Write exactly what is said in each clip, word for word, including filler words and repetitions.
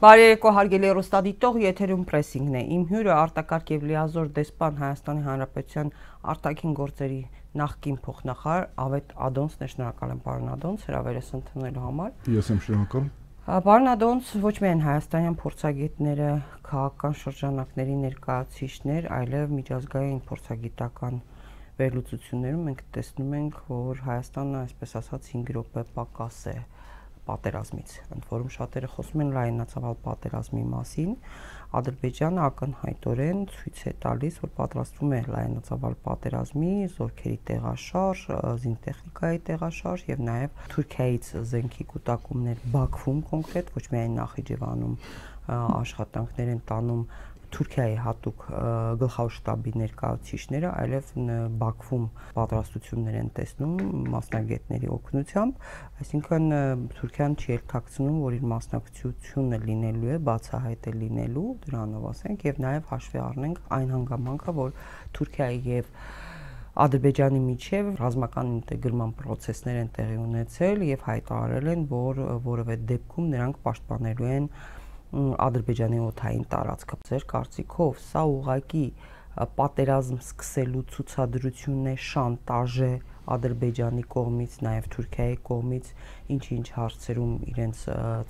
Բարերեկո հարգելի հեռուստադիտող, եթերում պրեսինգն է։ Իմ հյուրը արտակարգ եւ լիազոր դեսպան Հայաստանի Հանրապետության արտաքին գործերի նախկին փոխնախարար Ավետ Ադոնցն է։ Շնորհակալ եմ, պարոն Ադոնց, հրավերս ընդունելու համար։ Ես եմ շնորհակալ։ Պարոն Ադոնց, ոչ միայն հայաստանյան փորձագետները, քաղաքական շրջանակների ներկայացուցիչներ, այլև միջազգային փորձագիտական վերլուծություններում մենք տեսնում ենք, որ Հայաստանը, այսպես ասած, հինգ րոպե պակաս է պատերազմից, ընդ որում շատերը խոսում են լայնածավալ պատերազմի մասին, Ադրբեջանը ակնհայտորեն ցույց է տալիս, որ պատրաստվում է լայնածավալ պատերազմի, զորքերի տեղաշարժ, զինտեխնիկայի տեղաշարժ եւ նաեւ Թուրքիայից զենքի կուտակումներ Բաքվում կոնկրետ, ոչ միայն Նախիջևանում աշխատանքներ են տանում Թուրքիայի հատուկ գլխավոր շտաբի ներկայացուցիչները, այլև Բաքվում պատրաստություններ են տեսնում մասնագետների օգնությամբ, այսինքն Թուրքիան չի ելքակցնում, որ իր մասնակցությունը լինելու է, բացահայտ է լինելու, դրանով ասենք, եւ նաեւ հաշվի առնենք այն հանգամանքը, որ Թուրքիայի եւ Ադրբեջանի միջև ռազմական ինտեգրման process-ներ են տեղի ունեցել եւ հայտարարել են, որ որևէ դեպքում նրանք պաշտպանելու են Ադրբեջանի օդային տարածքը։ Ձեր կարծիքով սա ուղղակի պատերազմ սկսելու ցուցադրություն է, շանտաժ է Ադրբեջանի կողմից, նաև Թուրքիայի կողմից, ինչ-ինչ հարցերում իրենց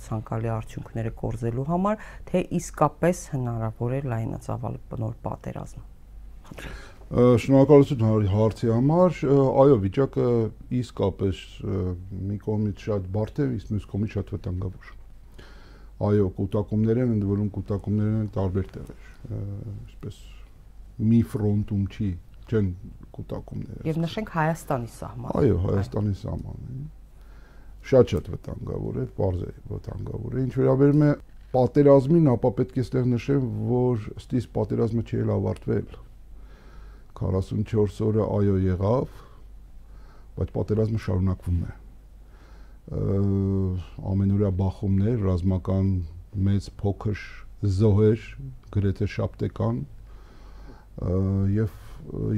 ցանկալի արդյունքները կորզելու համար, թե իսկապես հնարավոր է լայնածավալ նոր պատերազմ։ Շնորհակալություն հարցի համար, այո, վիճակը իսկապես մի կողմից շատ բարդ է, իսկ մյուս կողմից շատ վտանգավոր։ Այո, կուտակումներ են, ընդ որում կուտակումներ են տարբեր տեղեր, այսպես մի ֆրոնտում չի, չեն կուտակումները։ Եվ նշենք Հայաստանի սահմանը։ Այո, Հայաստանի սահմանը։ Շատ-շատ վտանգավոր է, պարզ է վտանգավոր է։ Ինչ վերաբերում է պատերազմին, ապա պետք է ստեղ նշեմ, որ ըստ իս պատերազմը չի էլ ավարտվել։ քառասունչորս օրը այո եղավ, բայց պատերազմը շարունակվում է։ Ամենօրյա բախումներ, ռազմական մեծ փոքր զոհեր, գրեթե շաբթեկան, եւ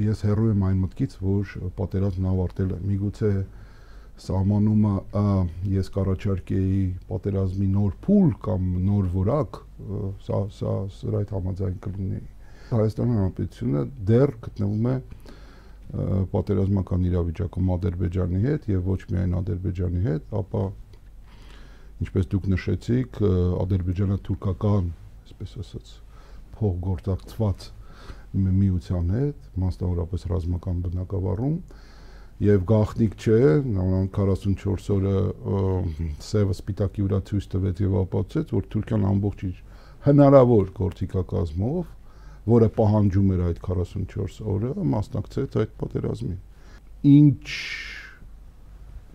ես հեռու եմ այն մտքից, որ պատերազմն ավարտել է։ Միգուցե սահմանումը ես կառաջարկեի պատերազմի նոր փուլ կամ նոր որակ, սա սա սրա հետ համաձայն կլինեի։ Հայաստանի Հանրապետությունը դեռ գտնվում է պատերազմական իրավիճակում Ադրբեջանի հետ եւ ոչ միայն Ադրբեջանի հետ, ապա ինչպես դուք նշեցիք, Ադրբեջանը թուրքական, այսպես ասած, փոխգործակցված միության հետ, մասնավորապես ռազմական բնակավարում, եւ գաղտնիք չէ, քառասունչորս օրը սևը սպիտակի վրա ցույց տվեց եւ ապացուցեց, որ Թուրքիան ամբողջ իր հնարավոր գործիքակազմով, որը պահանջում էր այդ քառասունչորս օրը, մասնակցեց այդ պատերազմին։ Ինչ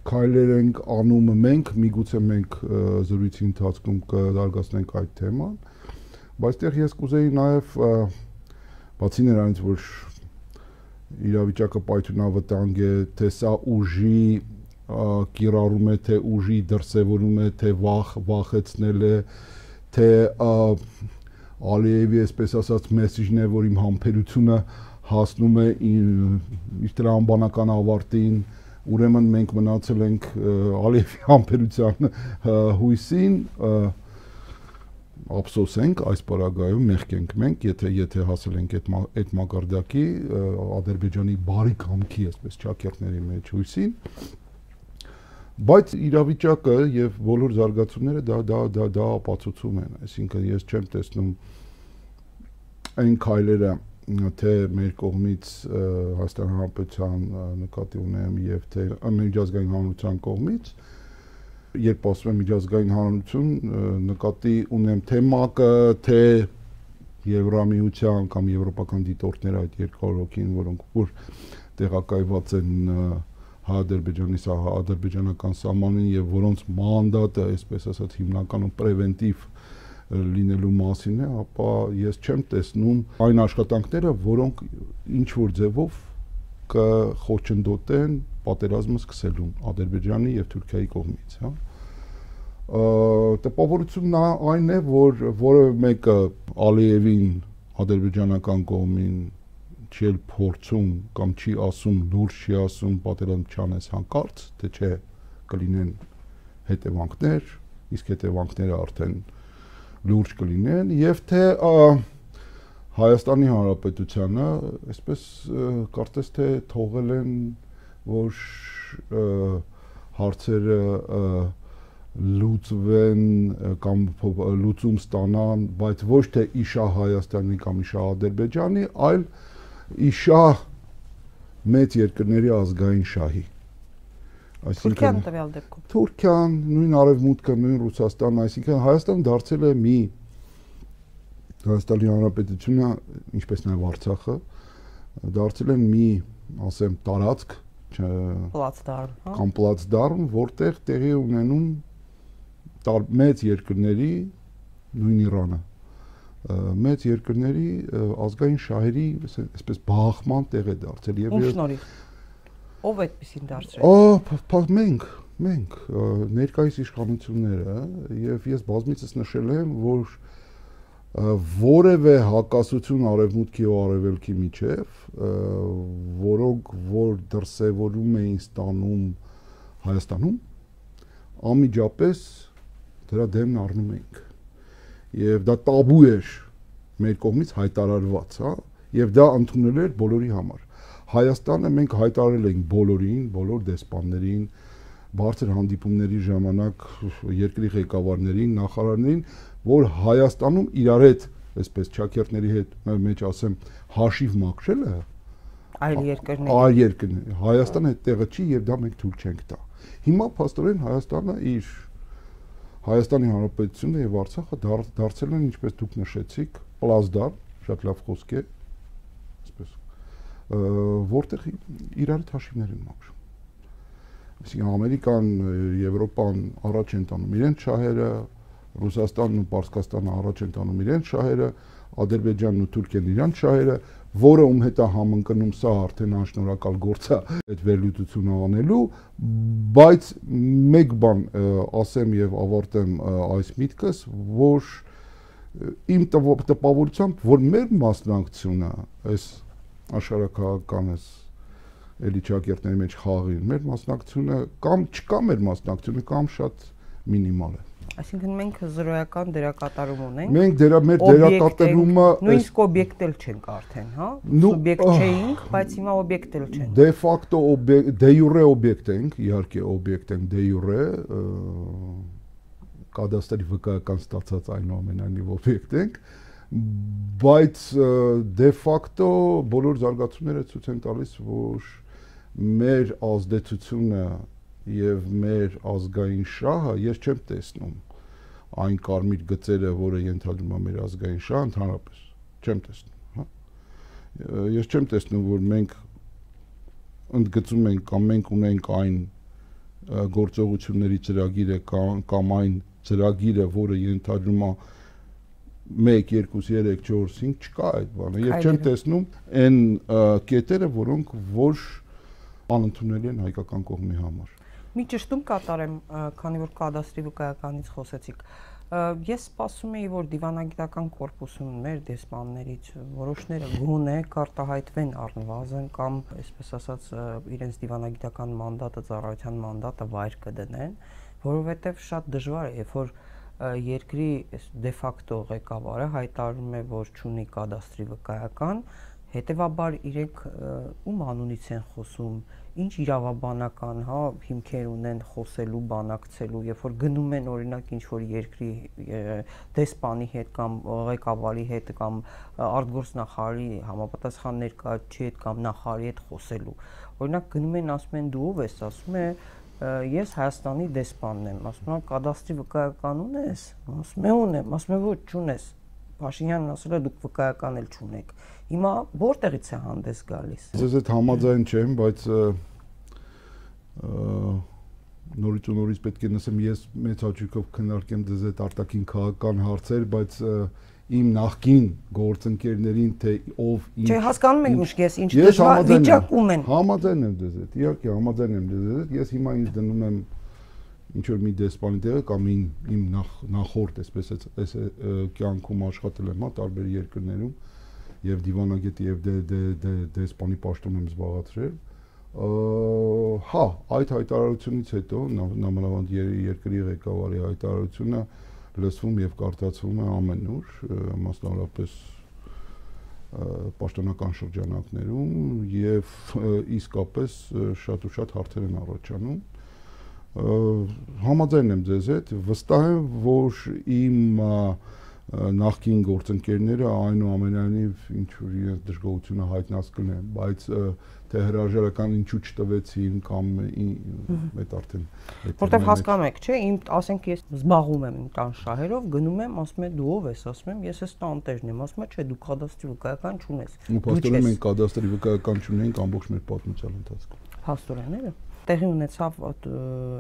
քայլեր ենք անում մենք, միգուցե մենք զրույցի ընթացքում կզարգացնենք այդ թեման, բայց այդտեղ ես կուզեի նաև բացի նրանից, որ իրավիճակը պայթյունավտանգ է, թե սա ուժի կիրառում է, թե ուժի դրսևորում է, թե վախ վախեցնել է, թե Ալիևի, այսպես ասած, մեսիջն է, որ իմ համբերությունը հասնում է իր տրամաբանական ավարտին, ուրեմն մենք մնացել ենք Ալիևի համբերության հույսին, ափսոսենք այս պարագայում, մեղք ենք մենք, եթե եթե հասել ենք այդ այդ մակարդակի Ադրբեջանի բարի կամքի, այսպես ճակերտների մեջ հույսին, բայց իրավիճակը եւ բոլոր զարգացումները դա դա դա դա ապացուցում են, այսինքն ես չեմ տեսնում այն քայլերը, թե մեր կողմից Հայաստանի Հանրապետության նկատի ունեմ եւ թե միջազգային հանրության կողմից, երբ ասում եմ միջազգային հանրություն, նկատի ունեմ թե ՄԱԿ-ը, թե Եվրամիության կամ եվրոպական դիտորդները այդ երկու հոգին, որոնք որ տեղակայված են Ադրբեջանի սա ադրբեջանական սահմանին եւ որոնց մանդատը, այսպես ասած, հիմնականում պրևենտիվ լինելու մասին է, ապա ես չեմ տեսնում այն աշխատանքները, որոնք ինչ որ ձևով կխոչընդոտեն պատերազմը սկսելուն Ադրբեջանի եւ Թուրքիայի կողմից, հա։ Տպավորությունն այն է, որ որևէ մեկը Ալիևին ադրբեջանական կողմին չի էլ փորձում կամ չի ասում, լուրջ չի ասում պատերազմ չանես հանկարծ, թե չէ կլինեն հետևանքներ, իսկ հետևանքները արդեն լուրջ կլինեն եւ թե Հայաստանի Հանրապետությանը այսպես կարծես թե թողել են որ հարցերը լուծվեն կամ լուծում ստանան, բայց ոչ թե իշա Հայաստանի կամ իշա Ադրբեջանի, այլ իշա մեծ երկրների ազգային շահի։ Թուրքիան տվյալ դեպքում։ Թուրքիան, նույն Արևմուտքը, նույն Ռուսաստանը, այսինքն Հայաստանը դարձել է մի Հայաստանի Հանրապետությունը, ինչպես նաև Արցախը, դարձել են մի, ասեմ, տարածք, պլացդարմ, հա, կամ պլացդարմ, որտեղ տեղի ունենում մեծ երկրների, նույն Իրանը, մեծ երկրների ազգային շահերի, այսպես բախման տեղ է դարձել եւ ում շնորհիվ ով այդպեսին դարձրեց։ Ահա մենք, մենք ներկայիս իշխանությունները եւ ես բազմիցս նշել եմ, որ որևէ հակասություն արևմուտքի ու արևելքի միջև, որոնք որ դրսևորում էին ստանում Հայաստանում, անմիջապես դրա դեմն առնում ենք։ Եվ դա տաբու էր մեր կողմից հայտարարված, հա, եւ դա ընդունել էր բոլորի համար։ Հայաստանը մենք հայտարարել ենք բոլորին, բոլոր դեսպաններին, բարձր հանդիպումների ժամանակ երկրի ղեկավարներին, նախարարներին, որ Հայաստանում իրար հետ, այսպես ճակերտների հետ մեջ ասեմ, հաշիվ մաքրելը այլ երկրների այլ երկրների Հայաստանը այդ տեղը չի եւ դա մենք թույլ չենք տա։ Հիմա փաստորեն Հայաստանը իր Հայաստանի Հանրապետությունը եւ Արցախը դարձել են, ինչպես դուք նշեցիք, պլազդար, շատ լավ խոսք է, այսպես, որտեղ իրար հետ հաշիվներ են մաքրում։ Այսինքն Ամերիկան, Եվրոպան առաջ են տանում իրենց շահերը, Ռուսաստանն ու Պարսկաստանը առաջ են տանում իրենց շահերը, Ադրբեջանն ու Թուրքիան իրենց շահերը, որը ում հետ է համընկնում սա արդեն անշնորհակալ գործ է այդ վերլուծությունը անելու, բայց մեկ բան ասեմ եւ ավարտեմ այս միտքս, որ իմ տպավորությամբ, որ մեր մասնակցությունը այս աշխարհակահաղական այս էլի ճակերտների մեջ խաղին, մեր մասնակցությունը կամ չկա մեր մասնակցությունը կամ շատ մինիմալ է։ Այսինքն մենք զրոյական դերակատարում ունենք։ Մենք դերա մեր դերակատարումը նույնիսկ օբյեկտ էլ չենք արդեն, հա։ Սուբյեկտ չէինք, բայց հիմա օբյեկտ էլ չենք։ Դե ֆակտո դե յուրե օբյեկտ ենք, իհարկե օբյեկտ ենք դե յուրե, կադաստրի վկայական ստացած այնուամենայնիվ օբյեկտ ենք, բայց դե ֆակտո բոլոր զարգացումները ցույց են տալիս, որ մեր ազդեցությունը եւ մեր ազգային շահը ես չեմ տեսնում այն կարմիր գծերը, որը ենթադրում է մեր ազգային շահը, ընդհանրապես չեմ տեսնում, հա։ Ես չեմ տեսնում, որ մենք ընդգծում ենք կամ մենք ունենք այն գործողությունների ծրագիրը կամ, կամ այն ծրագիրը, որը ենթադրում է մեկ, երկու, երեք, չորս, հինգ, չկա այդ բանը։ Ես չեմ տեսնում այն կետերը, որոնք որ անընդունելի են հայկական կողմի համար։ Մի ճշտում կատարեմ, քանի որ կադաստրի վկայականից խոսեցիք։ Ես սպասում էի, որ դիվանագիտական կորպուսում մեր դեսպաններից որոշները գոնե կարտահայտվեն առնվազն կամ, այսպես ասած, իրենց դիվանագիտական մանդատը, ծառայության մանդատը վայր կդնեն, որովհետև շատ դժվար է, երբ որ երկրի դե ֆակտո ղեկավարը հայտարարում է, որ չունի կադաստրի վկայական, հետևաբար իրենք ում անունից են խոսում, ինչ իրավաբանական, հա, հիմքեր ունեն խոսելու, բանակցելու, երբ որ գնում են օրինակ ինչ որ երկրի դեսպանի հետ կամ ղեկավարի հետ կամ արտգործնախարարի համապատասխան ներկայացուցիչի հետ կամ նախարարի հետ խոսելու։ Օրինակ գնում են, ասում են դու ով ես, ասում է ես Հայաստանի դեսպանն եմ, ասում եմ կադաստրի վկայական ունես, ասում է ունեմ, ասում է ոչ չունես։ Փաշինյանն ասել է դուք վկայական էլ չունեք։ Հիմա որտեղից է հանդես գալիս։ Ձեզ հետ համաձայն չեմ, բայց նորից ու նորից պետք է նշեմ, ես մեծ հաճույքով քննարկեմ ձեզ հետ արտաքին քաղաքական հարցեր, բայց իմ նախկին գործընկերներին թե ով ինչ։ Չէ, հասկանում եք ուշ ես ինչ դժվար վիճակում են։ Համաձայն եմ ձեզ հետ, իհարկե համաձայն եմ ձեզ հետ, ես հիմա ինձ դնում եմ ինչ որ մի դեսպանի տեղը կամ իմ նախորդ, այսպես այս կյանքում աշխատել եմ, հա, տարբեր երկրներում եւ դիվանագետի եւ դեսպանի պաշտոն եմ զբաղացրել։ Հա, այդ հայտարարությունից հետո նամանավանդ երկրի ղեկավարի հայտարարությունը լսվում եւ կարդացվում է ամենուր, մասնավորապես պաշտոնական շրջանակներում եւ իսկապես շատ ու շատ հարցեր են առաջանում։ Համաձայն եմ ձեզ հետ, վստահ եմ, որ իմ նախկին գործընկերները այնուամենայնիվ ինչ-որ իրենց դժգոհությունը հայտնած կլինեն, բայց թե հրաժարական ինչու չտվեցին կամ այդ արդեն որտեվ հասկանում եք, չէ, իմ ասենք ես զբաղվում եմ իմ տան շահերով, գնում եմ, ասում եմ դու ով ես, ասում եմ ես էս տանտերն եմ, ասում եմ չէ, դու կադաստրի վկայական չունես։ Ու փաստորեն մենք կադաստրի վկայական չունենք ամբողջ մեր պատմության ընթացքում։ Փաստորենները տեղի ունեցավ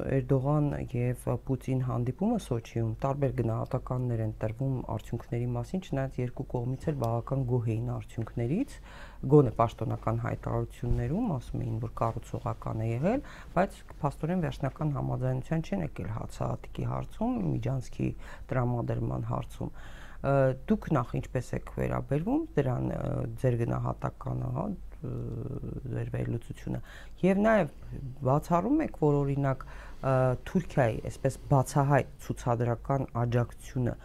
Էրդողան եւ Պուտին հանդիպումը Սոչիում, տարբեր գնահատականներ են տրվում արդյունքների մասին, չնայած երկու կողմից էլ բավական գոհ էին արդյունքներից, գոնե պաշտոնական հայտարարություններում ասում էին, որ կառուցողական է եղել, բայց փաստորեն վերջնական համաձայնության չեն եկել հացահատիկի հարցում, միջանցքի տրամադրման հարցում։ Դուք նախ ինչպես եք վերաբերվում դրան, ձեր գնահատականը, հա, ձեր վերլուծությունը եւ նաեւ բացառում եք, որ օրինակ Թուրքիայի այսպես բացահայտ ցուցադրական աջակցությունը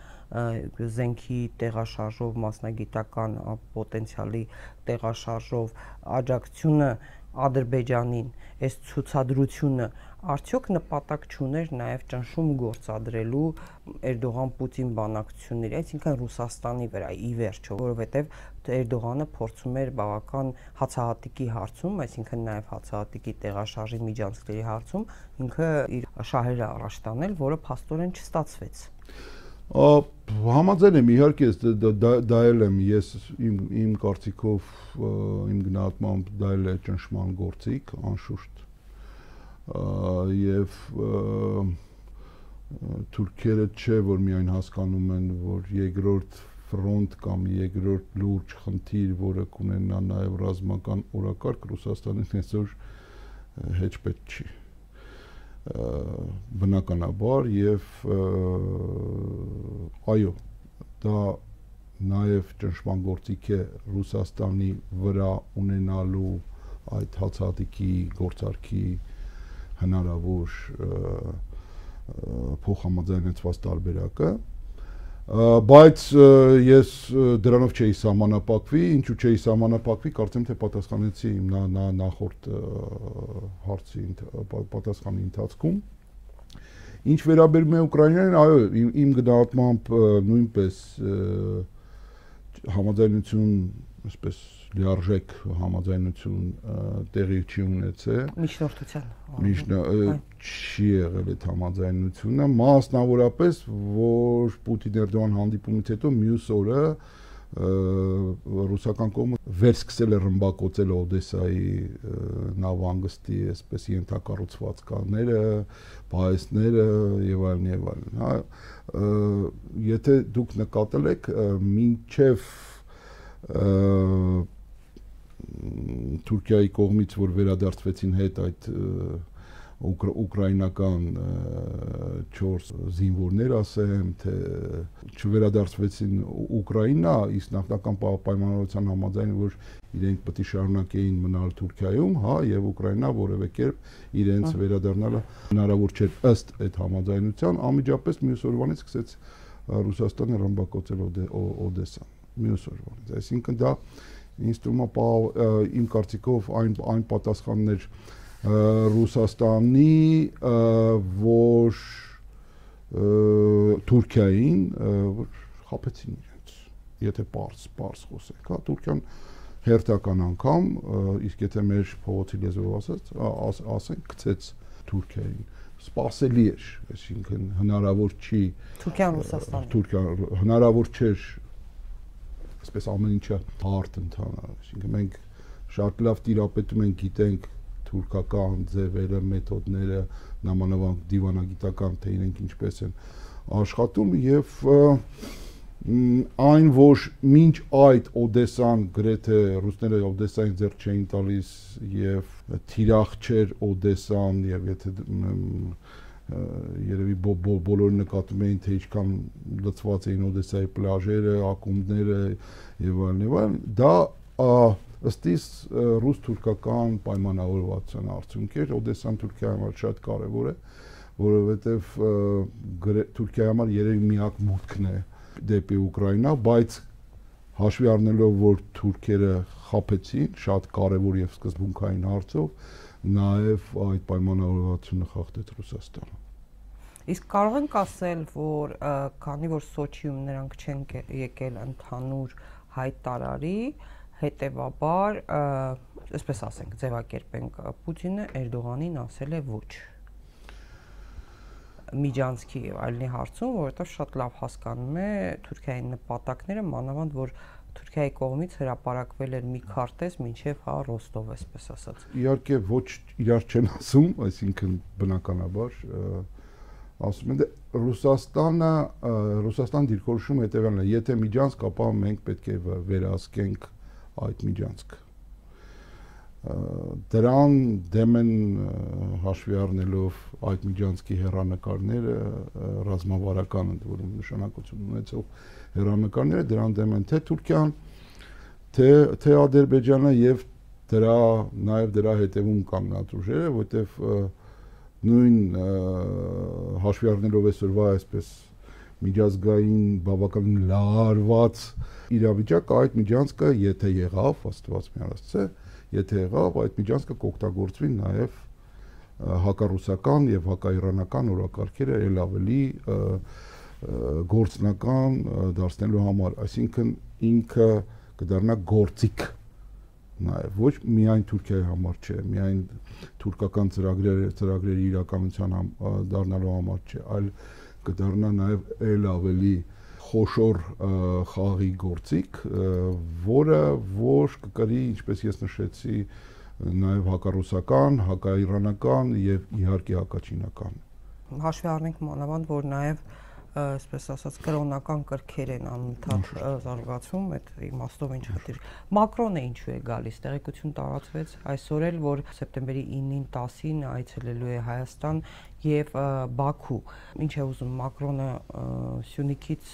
զենքի տեղաշարժով, մասնագիտական պոտենցիալի տեղաշարժով աջակցությունը Ադրբեջանին, այս ցուցադրությունը արդյոք նպատակ չուներ նաև ճնշում գործադրելու Էրդողան-Պուտին բանակցությունների, այսինքն Ռուսաստանի վրա ի վերջո, որովհետև Էրդողանը փորձում էր բավական հացահատիկի հարցում, այսինքն նաև հացահատիկի տեղաշարժի միջանցքների հարցում ինքը իր շահերը առաջ տանել, որը փաստորեն չստացվեց։ Համաձայն եմ, իհարկե դա էլ եմ ես իմ իմ կարծիքով իմ գնահատմամբ դա էլ է ճնշման գործիք, անշուշտ եւ թուրքերը չէ որ միայն հասկանում են, որ երկրորդ ֆրոնտ կամ երկրորդ լուրջ խնդիր, որը կունենա նաեւ ռազմական օրակարգ, Ռուսաստանին այսօր հեչ պետք չի։ Բնականաբար եւ այո, դա նաեւ ճնշման գործիք է Ռուսաստանի վրա ունենալու այդ հացահատիկի գործարքի հնարավոր փոխհամաձայնեցված տարբերակը, բայց ես դրանով չէի սահմանափակվի, ինչու չէի սահմանափակվի, կարծեմ թե պատասխանեցի իմ նախորդ հարցի պատասխանի ընթացքում։ Ինչ վերաբերում է Ուկրաինային, այո, իմ գնահատմամբ նույնպես համաձայնություն, այսպես լիարժեք համաձայնություն տեղի չի ունեցել։ Միջնորդության չի եղել այդ համաձայնությունը, մասնավորապես, որ Պուտին-Էրդողան հանդիպումից հետո մյուս օրը ռուսական կողմը վերսկսել է ռմբակոծել Օդեսայի նավահանգստի այսպես ենթակառուցվածքները, պահեստները եւ այլն եւ այլն, հա, եթե դուք նկատել եք, մինչեւ Թուրքիայի կողմից, որ վերադարձվեցին հետ այդ ուկրաինական չորս զինվորներ, ասեմ, թե չվերադարձվեցին Ուկրաինա, իսկ նախնական պայմանավորության համաձայն, որ իրենք պետք է շարունակեին մնալ Թուրքիայում, հա, եւ Ուկրաինա որևէ կերպ իրենց վերադառնալը հնարավոր չէր ըստ այդ համաձայնության, անմիջապես մյուս օրվանից սկսեց Ռուսաստանը ռմբակոծել Օդեսան, մյուս օրվանից, այսինքն դա ինձ թվում է իմ կարծիքով այն այն պատասխաններ Ռուսաստանի, որ Թուրքիային, որ խաբեցին իրենց, եթե պարզ, պարզ խոսենք, հա, Թուրքիան հերթական անգամ, իսկ եթե մեր փողոցի լեզվով ասած, ասենք, գցեց Թուրքիային, սպասելի էր, այսինքն հնարավոր չի Թուրքիան Ռուսաստան, Թուրքիան հնարավոր չէր այսպես ամեն ինչը հարթ ընթանա, այսինքն մենք շատ լավ տիրապետում ենք, գիտենք թուրքական ձևերը, մեթոդները, նամանավանդ դիվանագիտական, թե իրենք ինչպես են աշխատում եւ այն, որ մինչ այդ Օդեսան գրեթե ռուսները Օդեսային ձեռք չէին տալիս եւ թիրախ չէր Օդեսան եւ եթե երևի բոլորը նկատում էին, թե ինչքան լցված էին Օդեսայի պլաժերը, ակումբները եւ այլն եւ այլն, դա ըստ իս ռուս-թուրքական պայմանավորվածության արդյունք էր, Օդեսան Թուրքիայի համար շատ կարեւոր է, որովհետև Թուրքիայի համար երևի միակ մուտքն է դեպի Ուկրաինա, բայց հաշվի առնելով, որ թուրքերը խաբեցին շատ կարևոր եւ սկզբունքային հարցով, նաեւ այդ պայմանավորվածությունը խախտեց Ռուսաստանը։ Իսկ կարող ենք ասել, որ քանի որ Սոչիում նրանք չեն եկել ընդհանուր հայտարարի, հետևաբար, այսպես ասենք, ձևակերպենք, Պուտինը Էրդողանին ասել է ոչ միջանցքի եւ այլնի հարցում, որովհետեւ շատ լավ հասկանում է Թուրքիայի նպատակները, մանավանդ որ Թուրքիայի կողմից հրապարակվել էր մի քարտեզ մինչև հա Ռոստով, այսպես ասած։ Իհարկե ոչ իրար չեն ասում, այսինքն բնականաբար ասում են Ռուսաստանը, Ռուսաստան դիրքորոշում հետևյալն է, եթե միջանցք, ապա մենք պետք է վերահսկենք այդ միջանցքը։ Դրան դեմ են հաշվի առնելով այդ միջանցքի հեռանկարները, ռազմավարական ընդ որում նշանակություն ունեցող հեռանկարները, դրան դեմ են թե Թուրքիան, թե թե Ադրբեջանը եւ դրա նաեւ դրա հետևում կան NATO ուժերը, որտեվ նույն հաշվի առնելով այսօրվա այսպես միջազգային բավականին լարված իրավիճակը, այդ միջանցքը եթե եղավ, Աստված միասցե, եթե եղավ, այդ միջանցքը կօգտագործվի նաև հակառուսական եւ հակաիրանական օրակարգերը ել ավելի գործնական դարձնելու համար, այսինքն ինքը կդառնա գործիք նաև ոչ միայն Թուրքիայի համար չէ, միայն թուրքական ծրագրերը ծրագրերի իրականության դառնալու համար չէ, այլ կդառնա նաև ել ավելի խոշոր խաղի գործիք, որը որ կկրի, ինչպես ես նշեցի, նաև հակառուսական, հակաիրանական եւ իհարկե հակաչինական։ Հաշվի առնենք մանավանդ, որ նաև այսպես ասած կրոնական կրքեր են անընդհատ զարգացում, այդ իմաստով ինչ խնդիր։ Մակրոնը ինչու է գալիս, տեղեկություն տարածվեց այսօր էլ, որ սեպտեմբերի ինին տասին այցելելու է Հայաստան եւ Բաքու։ Ինչ է ուզում Մակրոնը Սյունիքից,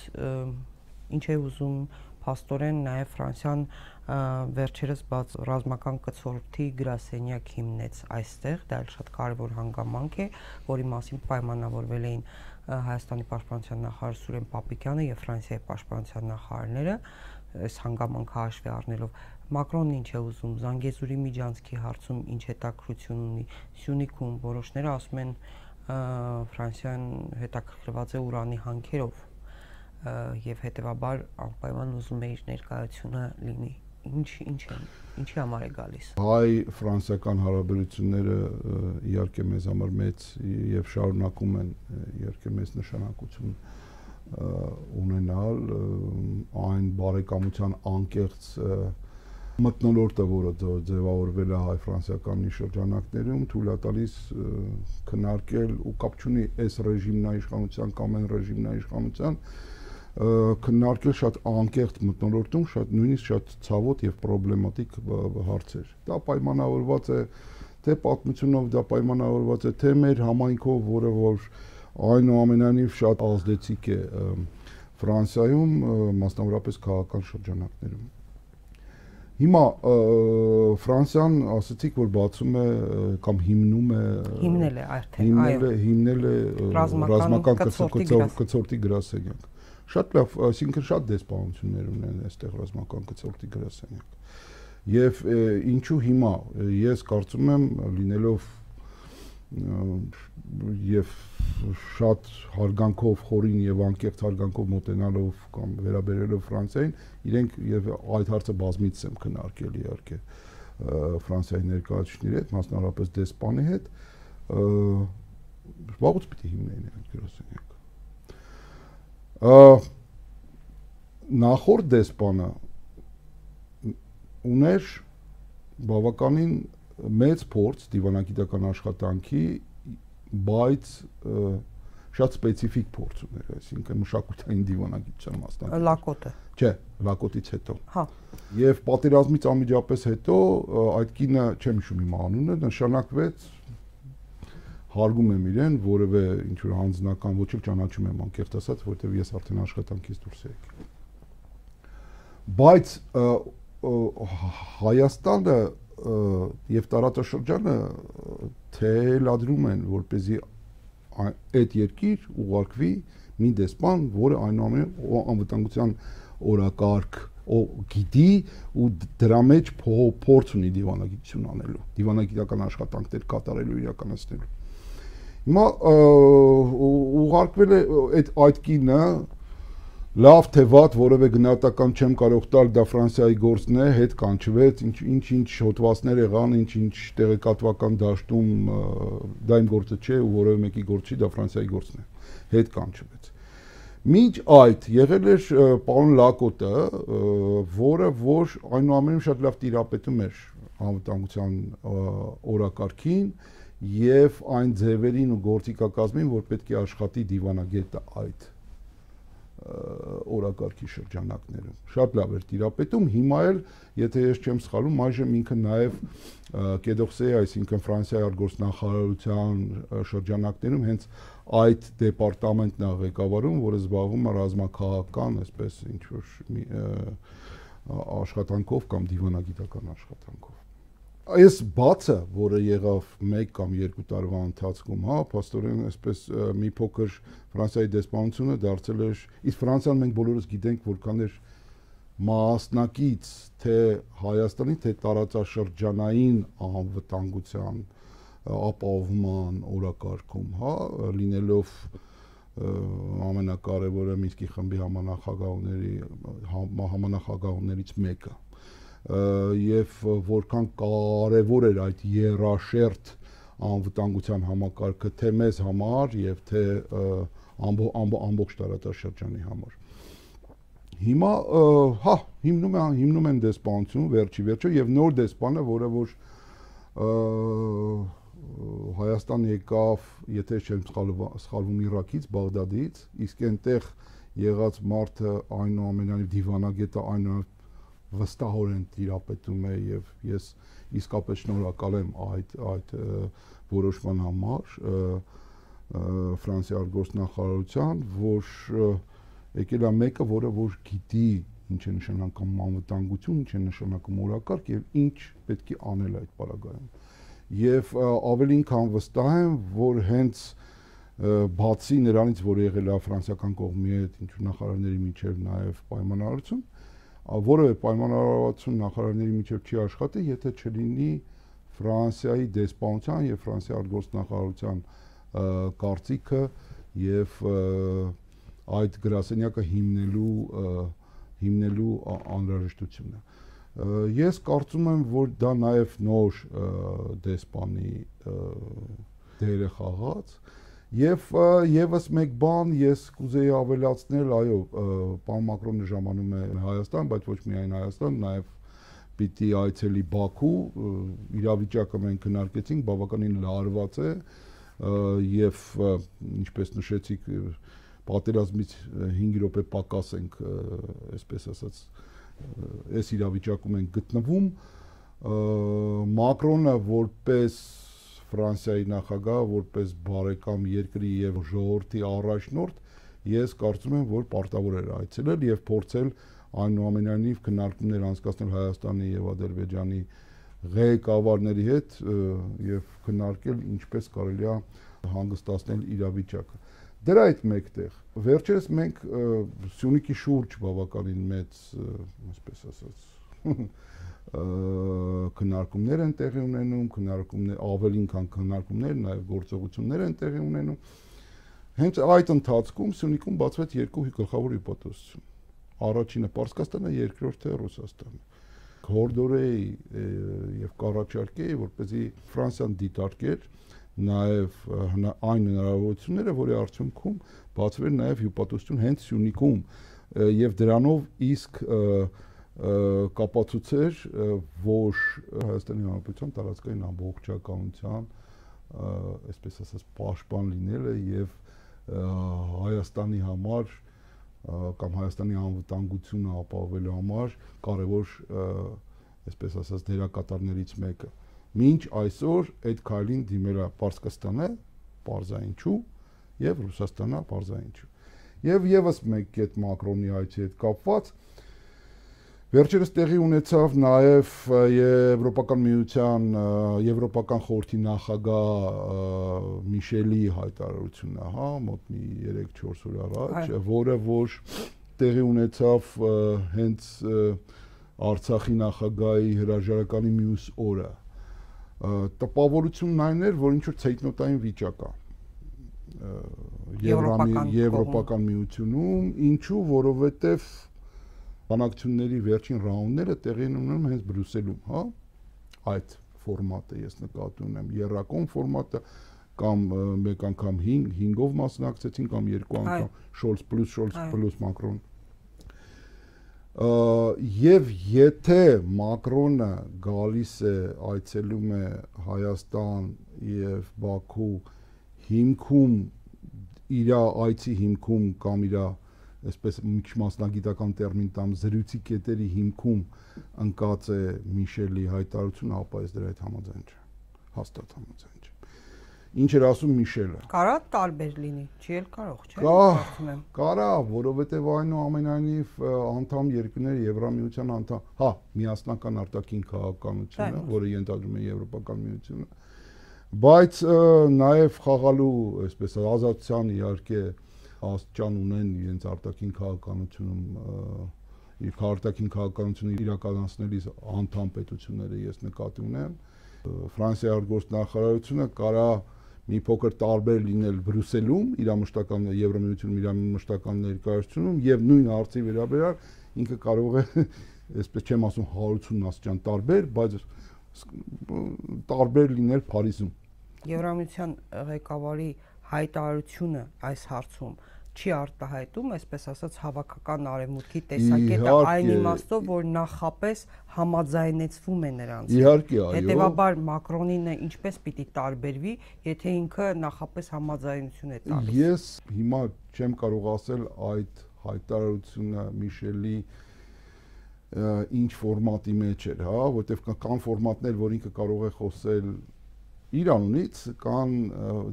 ինչ է ուզում փաստորեն նաև Ֆրանսիան վերջերս բաց ռազմական կցորդի գրասենյակ հիմնեց այստեղ, դա էլ շատ կարևոր հանգամանք է, որի մասին պայմանավորվել էին Հայաստանի պաշտպանության նախարար Սուրեն Պապիկյանը եւ Ֆրանսիայի պաշտպանության նախարարները, այս հանգամանքը հաշվի առնելով Մակրոնն ինչ է ուզում, Զանգեզուրի միջանցքի հարցում ինչ հետաքրություն ունի, Սյունիքում որոշները ասում են Ֆրանսիան հետաքրքրված է ուրանի հանքերով եւ հետեւաբար անպայման ուզում է իր ներկայությունը լինի։ Ինչ ինչ է, ինչի համար է գալիս։ Հայ-ֆրանսիական հարաբերությունները իհարկե մեզ համար մեծ եւ շարունակում են իհարկե մեծ նշանակություն ունենալ, այն բարեկամության անկեղծ մթնոլորտը, որը ձևավորվել է հայ-ֆրանսիական շրջանակներում, թույլ է տալիս քննարկել ու կապ չունի այս ռեժիմն իշխանության կամ այն ռեժիմն իշխանության քննարկել շատ անկեղծ մթնոլորտում, շատ նույնիսկ շատ ցավոտ եւ պրոբլեմատիկ հարցեր։ Դա պայմանավորված է թե պատմությունով, դա պայմանավորված է թե մեր համայնքով, որը որ այնուամենայնիվ շատ ազդեցիկ է Ֆրանսիայում, մասնավորապես քաղաքական շրջանակներում։ Հիմա Ֆրանսիան ասացիք, որ բացում է կամ հիմնում է հիմնել է արդեն, այո, հիմնել է ռազմական կցորդի գրասենյակ։ Շատ լավ, այսինքն շատ դեսպանություններ ունեն այստեղ ռազմական կցորդի գրասենյակ։ Եվ ինչու հիմա ես կարծում եմ լինելով եւ շատ հարգանքով, խորին եւ անկեղծ հարգանքով մոտենալով կամ վերաբերելով Ֆրանսիային, իրենք եւ այդ հարցը բազմից եմ քննարկել իհարկե Ֆրանսիայի ներկայացուցիչների հետ, մասնավորապես դեսպանի հետ, վաղուց պիտի հիմնեին այդ գրասենյակը։ Նախորդ դեսպանը ուներ բավականին մեծ փորձ դիվանագիտական աշխատանքի, բայց շատ սպეციფიկ փորձ ուներ, այսինքն մշակութային դիվանագիտության մասնակից։ Լակոտը։ Չէ, Լակոտից հետո։ Հա։ Եվ պատերազմից անմիջապես հետո այդ կինը, չեմ հիշում իմ անունը, նշանակվեց, հարգում եմ իրեն, որևէ ինչ որ հանձնական ոչ էլ ճանաչում եմ անկեղծ ասած, որովհետև ես արդեն աշխատանքից դուրս եմ եկել։ Բայց Հայաստանը եւ տարածաշրջանը թելադրում են, որպեսզի այդ երկիր ուղարկվի մի դեսպան, որը այնուամենայնիվ անվտանգության օրակարգ գիտի ու դրա մեջ փորձ ունի դիվանագիտություն անելու, դիվանագիտական աշխատանքներ կատարելու, իրականացնելու։ Հիմա ուղարկվել է այդ այդ կինը լավ թե վատ որևէ գնահատական չեմ կարող տալ, դա Ֆրանսիայի գործն է, հետ կանչվեց, ինչ-ինչ հոդվածներ եղան, ինչ-ինչ տեղեկատվական դաշտում, դա իմ գործը չէ ու որևէ մեկի գործ չի, դա Ֆրանսիայի գործն է, հետ կանչվեց։ Մինչ այդ եղել էր պարոն Լակոտը, որը որ այնուամենայնիվ շատ լավ տիրապետում էր անվտանգության օրակարգին եւ այն ձևերին ու գործիքակազմին, որ պետք է աշխատի դիվանագետը այդ օրակարգի շրջանակներում։ Շատ լավ էր տիրապետում, հիմա էլ, եթե ես չեմ սխալվում, այժմ ինքը նաև Կեդոքսեի, այսինքն Ֆրանսիայի արտգործնախարարության շրջանակներում հենց այդ դեպարտամենտն է ղեկավարում, որը զբաղվում է ռազմաքաղաքական, այսպես ինչ որ աշխատանքով կամ դիվանագիտական աշխատանքով։ Այս բացը, որը եղավ մեկ կամ երկու տարվա ընթացքում, հա, փաստորեն այսպես մի փոքր Ֆրանսիայի դեսպանությունը դարձել էր, իսկ Ֆրանսիան մենք բոլորս գիտենք, որքան էր մասնակից թե Հայաստանի, թե տարածաշրջանային անվտանգության ապահովման օրակարգում, հա, լինելով ամենակարևորը Մինսկի խմբի համանախագահների համանախագահներից մեկը եւ որքան կարեւոր էր այդ երաշերտ անվտանգության համակարգը թե մեզ համար եւ թե ամբողջ տարածաշրջանի համար։ Հիմա հա հիմնում է հիմնում են դեսպանություն վերջի վերջո եւ նոր դեսպանը, որը որ Հայաստան եկավ, եթե չեմ սխալվում Իրաքից, Բաղդադից, իսկ այնտեղ եղած մարդը այնուամենայնիվ դիվանագետը այնուամենայնիվ վստահորեն տիրապետում է եւ ես իսկապես շնորհակալ եմ այդ այդ որոշման համար Ֆրանսիայի արտգործնախարարության, որ եկել է մեկը, որը որ գիտի ինչ է նշանակում անվտանգություն, ինչ է նշանակում օրակարգ եւ ինչ պետք է անել այդ պարագայում։ Եվ ավելին քան վստահ եմ, որ հենց բացի նրանից, որ եղել է ֆրանսիական կողմի հետ ինչ նախարարների միջև նաեւ պայմանավորություն, որևէ պայմանավորվածություն նախարարների միջև չի աշխատի, եթե չլինի Ֆրանսիայի դեսպանության եւ Ֆրանսիայի արտգործնախարարության կարծիքը եւ այդ գրասենյակը հիմնելու հիմնելու անհրաժեշտությունը։ Ես կարծում եմ, որ դա նաեւ նոր դեսպանի դեր է խաղաց եւ եւս մեկ բան ես կուզեի ավելացնել, այո, պարոն Մակրոնը ժամանում է Հայաստան, բայց ոչ միայն Հայաստան, նաեւ պիտի այցելի Բաքու, իրավիճակը մենք քննարկեցինք, բավականին լարված է եւ ինչպես նշեցիք, պատերազմից հինգ րոպե պակաս ենք, այսպես ասած, այս իրավիճակում ենք գտնվում, Մակրոնը որպես Ֆրանսիայի նախագահ, որպես բարեկամ երկրի եւ ժողովրդի առաջնորդ, ես կարծում եմ, որ պարտավոր էր այցելել եւ փորձել այնուամենայնիվ քննարկումներ անցկացնել Հայաստանի եւ Ադրբեջանի ղեկավարների հետ եւ քննարկել ինչպես կարելի է հանգստացնել իրավիճակը։ Դրա այդ մեկտեղ վերջերս մենք Սյունիքի շուրջ բավականին մեծ, այսպես ասած, քննարկումներ են տեղի ունենում, քննարկումներ ավելին քան քննարկումներ, նաեւ գործողություններ են տեղի ունենում։ Հենց այդ ընթացքում Սյունիքում բացվեց երկու գլխավոր հիպոթեզություն։ Առաջինը Պարսկաստանը, երկրորդը Ռուսաստանը։ Հորդորեի եւ կառաջարկեի, որպեսզի Ֆրանսիան դիտարկեր նաեւ այն հնարավորությունները, որի արդյունքում բացվեր նաեւ հիպոթեզություն հենց Սյունիքում եւ դրանով իսկ կապացուցեր, որ Հայաստանի Հանրապետության տարածքային ամբողջականության, այսպես ասած, պաշտպան լինելը եւ Հայաստանի համար կամ Հայաստանի անվտանգությունը ապահովելու համար կարևոր, այսպես ասած, դերակատարներից մեկը։ Մինչ այսօր այդ քայլին դիմել է Պարսկաստանը, պարզայինչու, եւ Ռուսաստանը, պարզայինչու։ Եվ եւս մեկ կետ Մակրոնի այցի հետ կապված, Վերջերս տեղի ունեցավ նաև Եվրոպական միության, Եվրոպական խորհրդի նախագահ Միշելի հայտարարությունը, հա, մոտ մի երեք-չորս օր առաջ, որը որ տեղի ունեցավ հենց Արցախի նախագահի հրաժարականի մյուս օրը։ Տպավորությունն այն էր, որ ինչ որ ցեյտնոտային վիճակ է Եվրոպական միությունում, ինչու, որովհետև բանակցությունների վերջին ռաունդները տեղի են ունենում հենց Բրյուսելում, հա, այդ ֆորմատը ես նկատի ունեմ, եռակոմ ֆորմատը կամ մեկ անգամ հինգով մասնակցեցին կամ երկու անգամ Շոլց պլյուս Շոլց պլյուս Մակրոն։ Եվ եթե Մակրոնը գալիս է, այցելում է Հայաստան եւ Բաքու հիմքում իր այցի հիմքում կամ իր այսպես մասնագիտական տերմին տամ զրույցի կետերի հիմքում ընկած է Միշելի հայտարարությունը, ապա ես դրա հետ համաձայն չեմ, հաստատ համաձայն չեմ։ Ինչ էր ասում Միշելը։ Կարա տարբեր լինի, չի էլ կարող, չէ՞։ Կարծում եմ։ Կարա, որովհետև այնուամենայնիվ անդամ երկրները Եվրամիության անդամ, հա, միասնական արտաքին քաղաքականությունը, որը ենթադրում է Եվրոպական միությունը, բայց նաև խաղալու, այսպես ազատության իհարկե աստիճան ունեն իրենց արտաքին քաղաքականությունում իր արտաքին քաղաքականությունը իրականացնելիս անդամ պետությունները ես նկատի ունեմ Ֆրանսիայի արտգործնախարարությունը կարա մի փոքր տարբեր լինել Բրյուսելում իր մշտական Եվրամիությունում իր մշտական ներկայացությունում եւ նույն հարցի վերաբերյալ ինքը կարող է այսպես չեմ ասում հարյուրություն աստիճան տարբեր, բայց տարբեր լինել Փարիզում Եվրամիության ղեկավարի հայտարարությունը այս հարցում չի արտահայտում, այսպես ասած, հավաքական արևմուտքի տեսակետը այն իմաստով, որ նախապես համաձայնեցվում է նրանց։ Իհարկե, այո։ Հետևաբար Մակրոնինը ինչպես պիտի տարբերվի, եթե ինքը նախապես համաձայնություն է տալիս։ Ես հիմա չեմ կարող ասել այդ հայտարարությունը Միշելի ինչ ֆորմատի մեջ էր, հա, որտեղ կան ֆորմատներ, որ ինքը կարող է խոսել իր անունից կան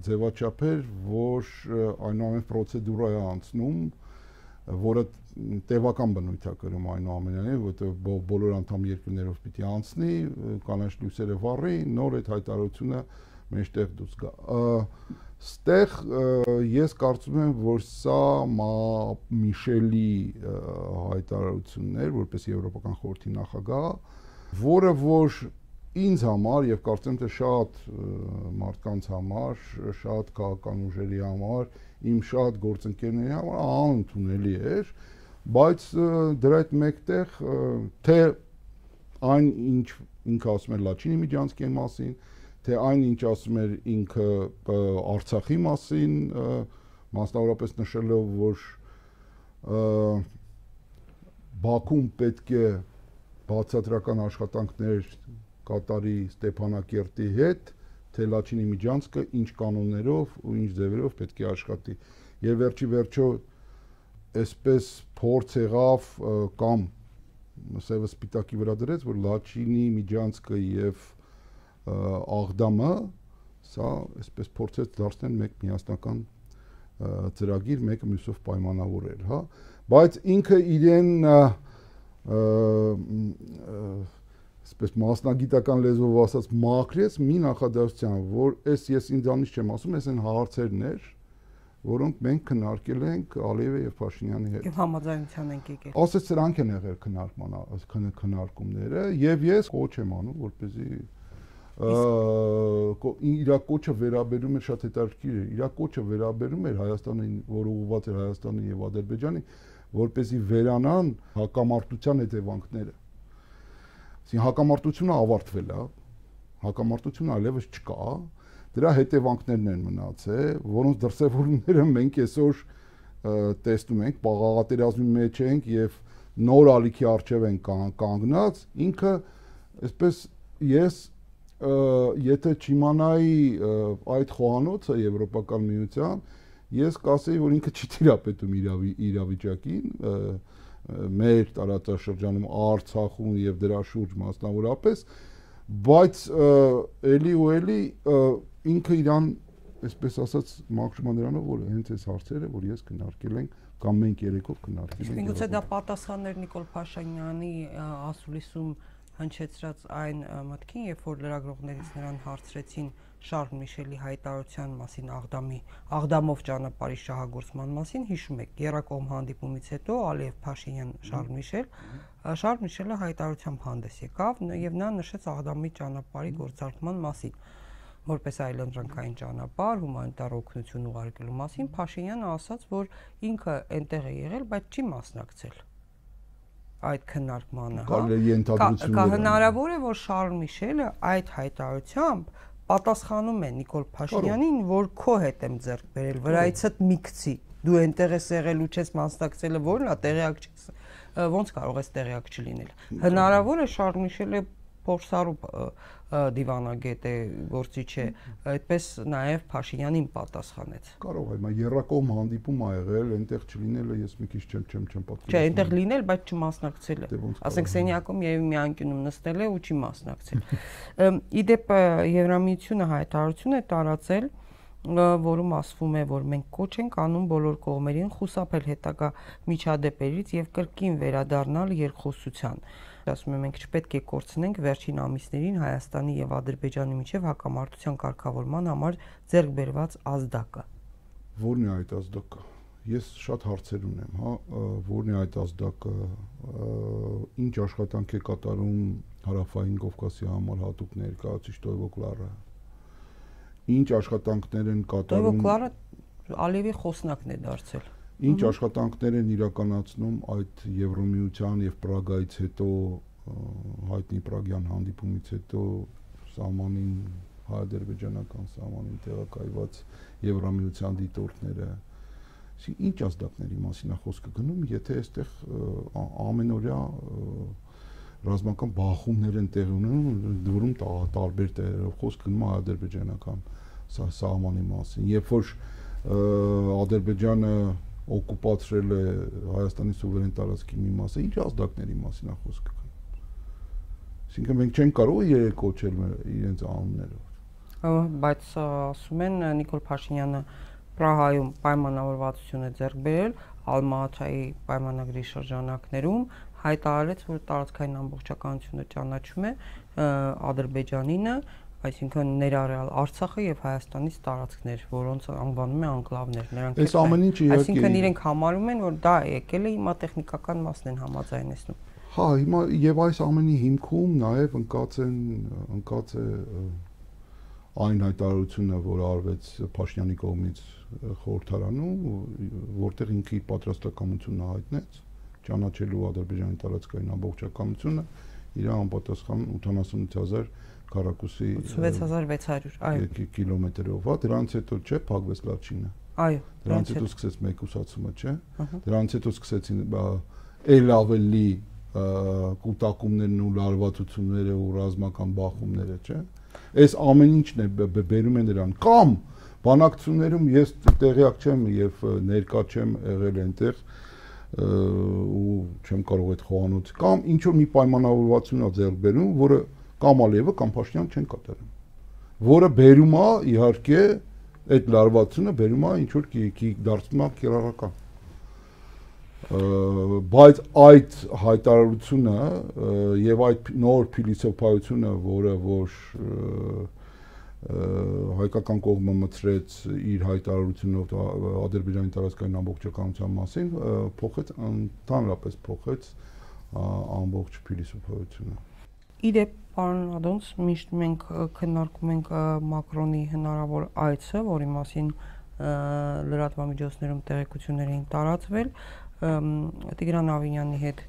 ձևաչափեր, որ այնուամենայնիվ պրոցեդուրա է անցնում, որը տևական բնույթ է կրում այնուամենայնիվ, որտեղ բոլոր անդամ երկրներով պիտի անցնի, կանաչ լույսերը վառի, նոր այդ հայտարարությունը մեջտեղ դուրս գա։ Ստեղ ես կարծում եմ, որ սա Միշելի հայտարարությունն էր, որպես Եվրոպական խորհրդի նախագահ, որը որ ինձ համար եւ կարծեմ թե շատ մարդկանց համար, շատ քաղաքական ուժերի համար, իմ շատ գործընկերների համար անընդունելի էր, բայց դրա հետ մեկտեղ թե այն ինչ ինքը ասում էր Լաչինի Միջանցկի մասին, թե այն ինչ ասում էր ինքը Արցախի մասին, մասնավորապես նշելով, որ Բաքուն պետք է բացատրական աշխատանքներ կատարի Ստեփանակերտի հետ, թե Լաչինի Միջանցկը ինչ կանոններով ու ինչ ձևերով պետք է աշխատի։ Եվ վերջի վերջո այսպես փորձ եղավ կամ սևը սպիտակի վրա դրեց, որ Լաչինի Միջանցկը եւ Աղդամը սա այսպես փորձեց դարձնել մեկ միասնական ծրագիր, մեկը մյուսով պայմանավորել, հա, բայց ինքը իրեն այսպես մասնագիտական լեզվով ասած մաքրեց մի նախադասության, որ այս ես ինձանից չեմ ասում, այս այն հարցերն էր, որոնք մենք քննարկել ենք Ալիևի եւ Փաշինյանի հետ։ Եվ համաձայնության ենք եկել։ Ասես սրանք են եղել քննարկման քննարկումները եւ ես կոչ եմ անում, որպեսզի իր կոչը վերաբերում է շատ հետաքրքիր է։ Իր կոչը վերաբերում էր Հայաստանին, որ ուղղված էր Հայաստանի եւ Ադրբեջանի, որպեսզի վերանան հակամարտության հետևանքները։ Այսինքն հակամարտությունը ավարտվել է, հակամարտությունը այլևս չկա, դրա հետևանքներն են մնացել, որոնց դրսևորումները մենք այսօր տեսնում ենք, պաղաղատերազմի մեջ ենք եւ նոր ալիքի առջև են կանգնած, ինքը այսպես ես եթե չիմանայի այդ խոհանոցը Եվրոպական միության, ես կասեի, որ ինքը չի տիրապետում իրավիճակին, մեր տարածաշրջանում Արցախում եւ դրա շուրջ մասնավորապես, բայց էլի ու էլի ինքը իրան, այսպես ասած, մաքրում նրանով, որ հենց այս հարցերը, որ ես քննարկել ենք կամ մենք երեքով քննարկենք։ Միգուցե դա պատասխաններ Նիկոլ Փաշինյանի ասուլիսում հնչեցրած այն մտքին, երբ որ լրագրողներից նրան հարցրեցին Շարլ Միշելի հայտարարության մասին, Աղդամի Աղդամով ճանապարհի շահագործման մասին, հիշում եք, եռակողմ հանդիպումից հետո Ալիև Փաշինյան Շարլ Միշել, Շարլ Միշելը հայտարարությամբ հանդես եկավ եւ նա նշեց Աղդամի ճանապարհի գործարկման մասին, որպես այլընտրանքային ճանապարհ, հումանիտար օգնություն ուղարկելու մասին, Փաշինյանը ասաց, որ ինքը այնտեղ է եղել, բայց չի մասնակցել այդ քննարկմանը, հա։ Հնարավոր է, որ Շարլ Միշելը այդ հայտարարությամբ պատասխանում է Նիկոլ Փաշինյանին, որ քո հետ եմ ձեռք բերել, վրայիցդ մի գցի, դու այնտեղ ես եղել ու չես մասնակցել, որն է, տեղյակ չես, ոնց կարող ես տեղյակ չլինել։ Հնարավոր է Շարլ Միշելը փորձառու դիվանագետ է, գործիչ է, այդպես նաև Փաշինյանին պատասխանեց։ Կարող է, մա եռակողմ հանդիպում ա եղել, այնտեղ չլինելը ես մի քիչ չեմ չեմ չեմ պատկերացնում։ Չէ, այնտեղ լինել, բայց չմասնակցել է։ Ասենք սենյակում երևի մի անկյունում նստել է ու չի մասնակցել։ Իդեպ Եվրամիությունը հայտարարություն է տարածել, որում ասվում է, որ մենք կոչ ենք անում բոլոր կողմերին խուսափել հետագա միջադեպերից եւ կրկին վերադառնալ երկխոսության։ Ասում եմ, մենք չպետք է կորցնենք վերջին ամիսներին Հայաստանի եւ Ադրբեջանի միջև հակամարտության կարգավորման համար ձեռք բերված ազդակը։ Որն է այդ ազդակը։ Ես շատ հարցեր ունեմ, հա, որն է այդ ազդակը, ինչ աշխատանք է կատարում Հարավային Կովկասի համար հատուկ ներկայացուցիչ Տոյվո Կլարը։ Ինչ աշխատանքներ են կատարում։ Տոյվո Կլարը Ալիևի խոսնակն է դարձել։ Ինչ աշխատանքներ են իրականացնում այդ Եվրոմիության եւ Պրագայից հետո հայտնի Պրագյան հանդիպումից հետո սահմանին հայ-ադրբեջանական սահմանին տեղակայված Եվրոմիության դիտորդները։ Ինչ ազդակների մասին է խոսքը գնում, եթե այստեղ ամենօրյա ռազմական բախումներ են տեղի ունենում, որում տարբեր տեղերով խոսք գնում է ադրբեջանական սահմանի մասին, երբ որ Ադրբեջանը օկուպացրել է Հայաստանի սուվերեն տարածքի մի մասը, ինչ ազդակների մասին է խոսքը գնում։ Այսինքն մենք չենք կարող երեք կոչել իրենց անուններով։ Բայց ասում են Նիկոլ Փաշինյանը Պրահայում պայմանավորվածություն է ձեռք բերել Ալմա-Աթայի պայմանագրի շրջանակներում, հայտարարեց, որ տարածքային ամբողջականությունը ճանաչում է Ադրբեջանինը, այսինքն ներառյալ Արցախը եւ Հայաստանից տարածքներ, որոնց անվանում է անկլավներ, նրանք այս ամեն ինչը իհարկե այսինքն իրենք համարում են, որ դա եկել է հիմա տեխնիկական մասն են համաձայնեցնում։ Հա, հիմա եւ այս ամենի հիմքում նաեւ ընկած են ընկած է այն հայտարարությունը, որ արվեց Փաշինյանի կողմից խորհրդարանում, որտեղ ինքը իր պատրաստակամությունը հայտնեց ճանաչելու Ադրբեջանի տարածքային ամբողջականությունը, իր անպատասխան ութանասունութ հազար քառակուսի ութսունվեց հազար վեց հարյուր, այո, կիլոմետրով, հա, դրանից հետո չէ փակվեց Լաչինը։ Այո, դրանից հետո սկսեց մեկուսացումը, չէ։ Դրանից հետո սկսեցին ել ավելի կուտակումներն ու լարվածությունները ու ռազմական բախումները, չէ։ Այս ամեն ինչն է բերում է նրան կամ բանակցություններում ես տեղյակ չեմ եւ ներկա չեմ եղել այնտեղ ու չեմ կարող այդ խոհանոց կամ ինչ որ մի պայմանավորվածություն ա ձեռք բերում, որը կամ Ալիևը կամ Փաշինյանը չեն կատարում, որը բերում է իհարկե այդ լարվածությունը բերում է ինչ որ կի դարձնում է կիրառական, բայց այդ հայտարարությունը եւ այդ նոր փիլիսոփայությունը, որը որ հայկական կողմը մտցրեց իր հայտարարությունով Ադրբեջանի տարածքային ամբողջականության մասին, փոխեց ընդհանրապես փոխեց ամբողջ փիլիսոփայությունը։ Իդեպ, պարոն Ադոնց, միշտ մենք քննարկում ենք Մակրոնի հնարավոր այցը, որի մասին լրատվամիջոցներում տեղեկություններ էին տարածվել, Տիգրան Ավինյանի հետ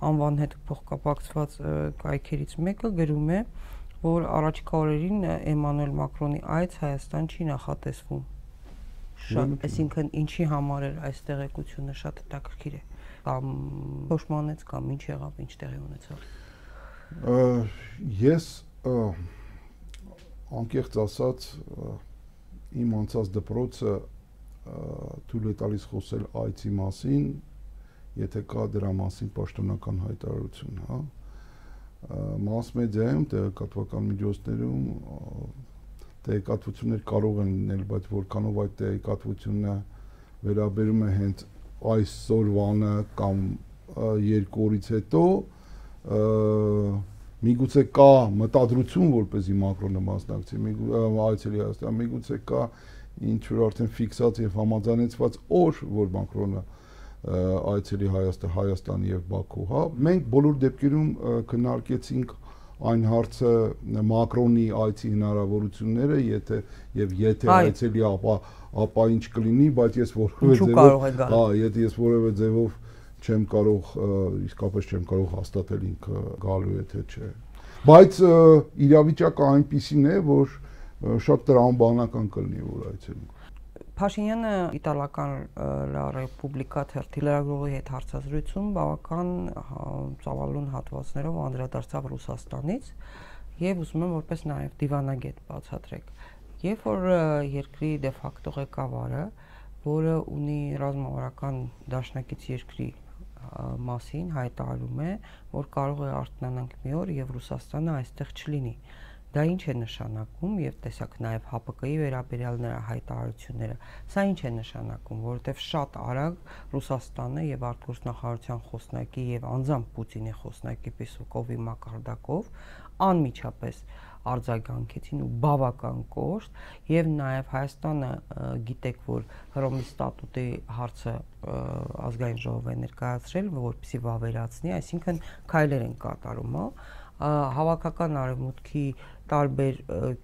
անվան հետ փոխկապակցված կայքերից մեկը գրում է, որ առաջիկա օրերին Էմանուել Մակրոնի այց Հայաստան չի նախատեսվում։ Շատ, այսինքն ինչի համար էր այս տեղեկությունը շատ հետաքրքիր է։ Կամ փոշմանեց կամ ինչ եղավ, ինչ տեղի ունեցավ։ Ես անկեղծ ասած իմ անցած դպրոցը թույլ է տալիս խոսել այցի մասին, եթե կա դրա մասին պաշտոնական հայտարարություն, հա։ Մաս մեդիայում, տեղեկատվական միջոցներում տեղեկատվություններ կարող են լինել, բայց որքանով այդ տեղեկատվությունը վերաբերում է հենց այսօրվանը կամ երկու օրից հետո միգուցե կա մտադրություն, որպեսզի Մակրոնը մասնակցի, այցելի Հայաստան, միգուցե կա ինչ-որ արդեն ֆիքսած եւ համաձայնեցված օր, որ Մակրոնը այցելի Հայաստան, Հայաստան եւ Բաքու, հա, մենք բոլոր դեպքերում քննարկեցինք այն հարցը Մակրոնի այցի հնարավորությունները, եթե եւ եթե այցելի ապա ապա ինչ կլինի, բայց ես որևէ ձևով, հա, եթե ես որևէ ձևով չեմ կարող իսկապես չեմ կարող հաստատել ինքը գալու է թե չէ։ Բայց իրավիճակը այնպիսին է, որ շատ տրամաբանական կլինի, որ այցելում։ Փաշինյանը իտալական La Repubblica թերթի լրագրողի հետ հարցազրույցում բավական ծավալուն հատվածներով անդրադարձավ Ռուսաստանից եւ ուզում եմ որպես նաեւ դիվանագետ բացատրեք։ Երբ որ երկրի դե ֆակտո ղեկավարը, որը ունի ռազմավարական դաշնակից երկրի մասին հայտարարում է, որ կարող է արթնանանք մի օր եւ Ռուսաստանը այստեղ չլինի։ Դա ինչ է նշանակում եւ տեսակ նաեւ Հ Պ Կ-ի վերաբերյալ նրա հայտարարությունները։ Սա ինչ է նշանակում, որովհետեւ շատ արագ Ռուսաստանը եւ արտգործնախարարության խոսնակի եւ անձամբ Պուտինի խոսնակի Պեսկովի մակարդակով անմիջապես արձագանքեցին ու բավական կոշտ եւ նաեւ Հայաստանը գիտեք, որ Հռոմի ստատուտի հարցը ազգային ժողով է ներկայացրել, որպեսզի վավերացնի, այսինքն քայլեր են կատարում, հավաքական արևմուտքի տարբեր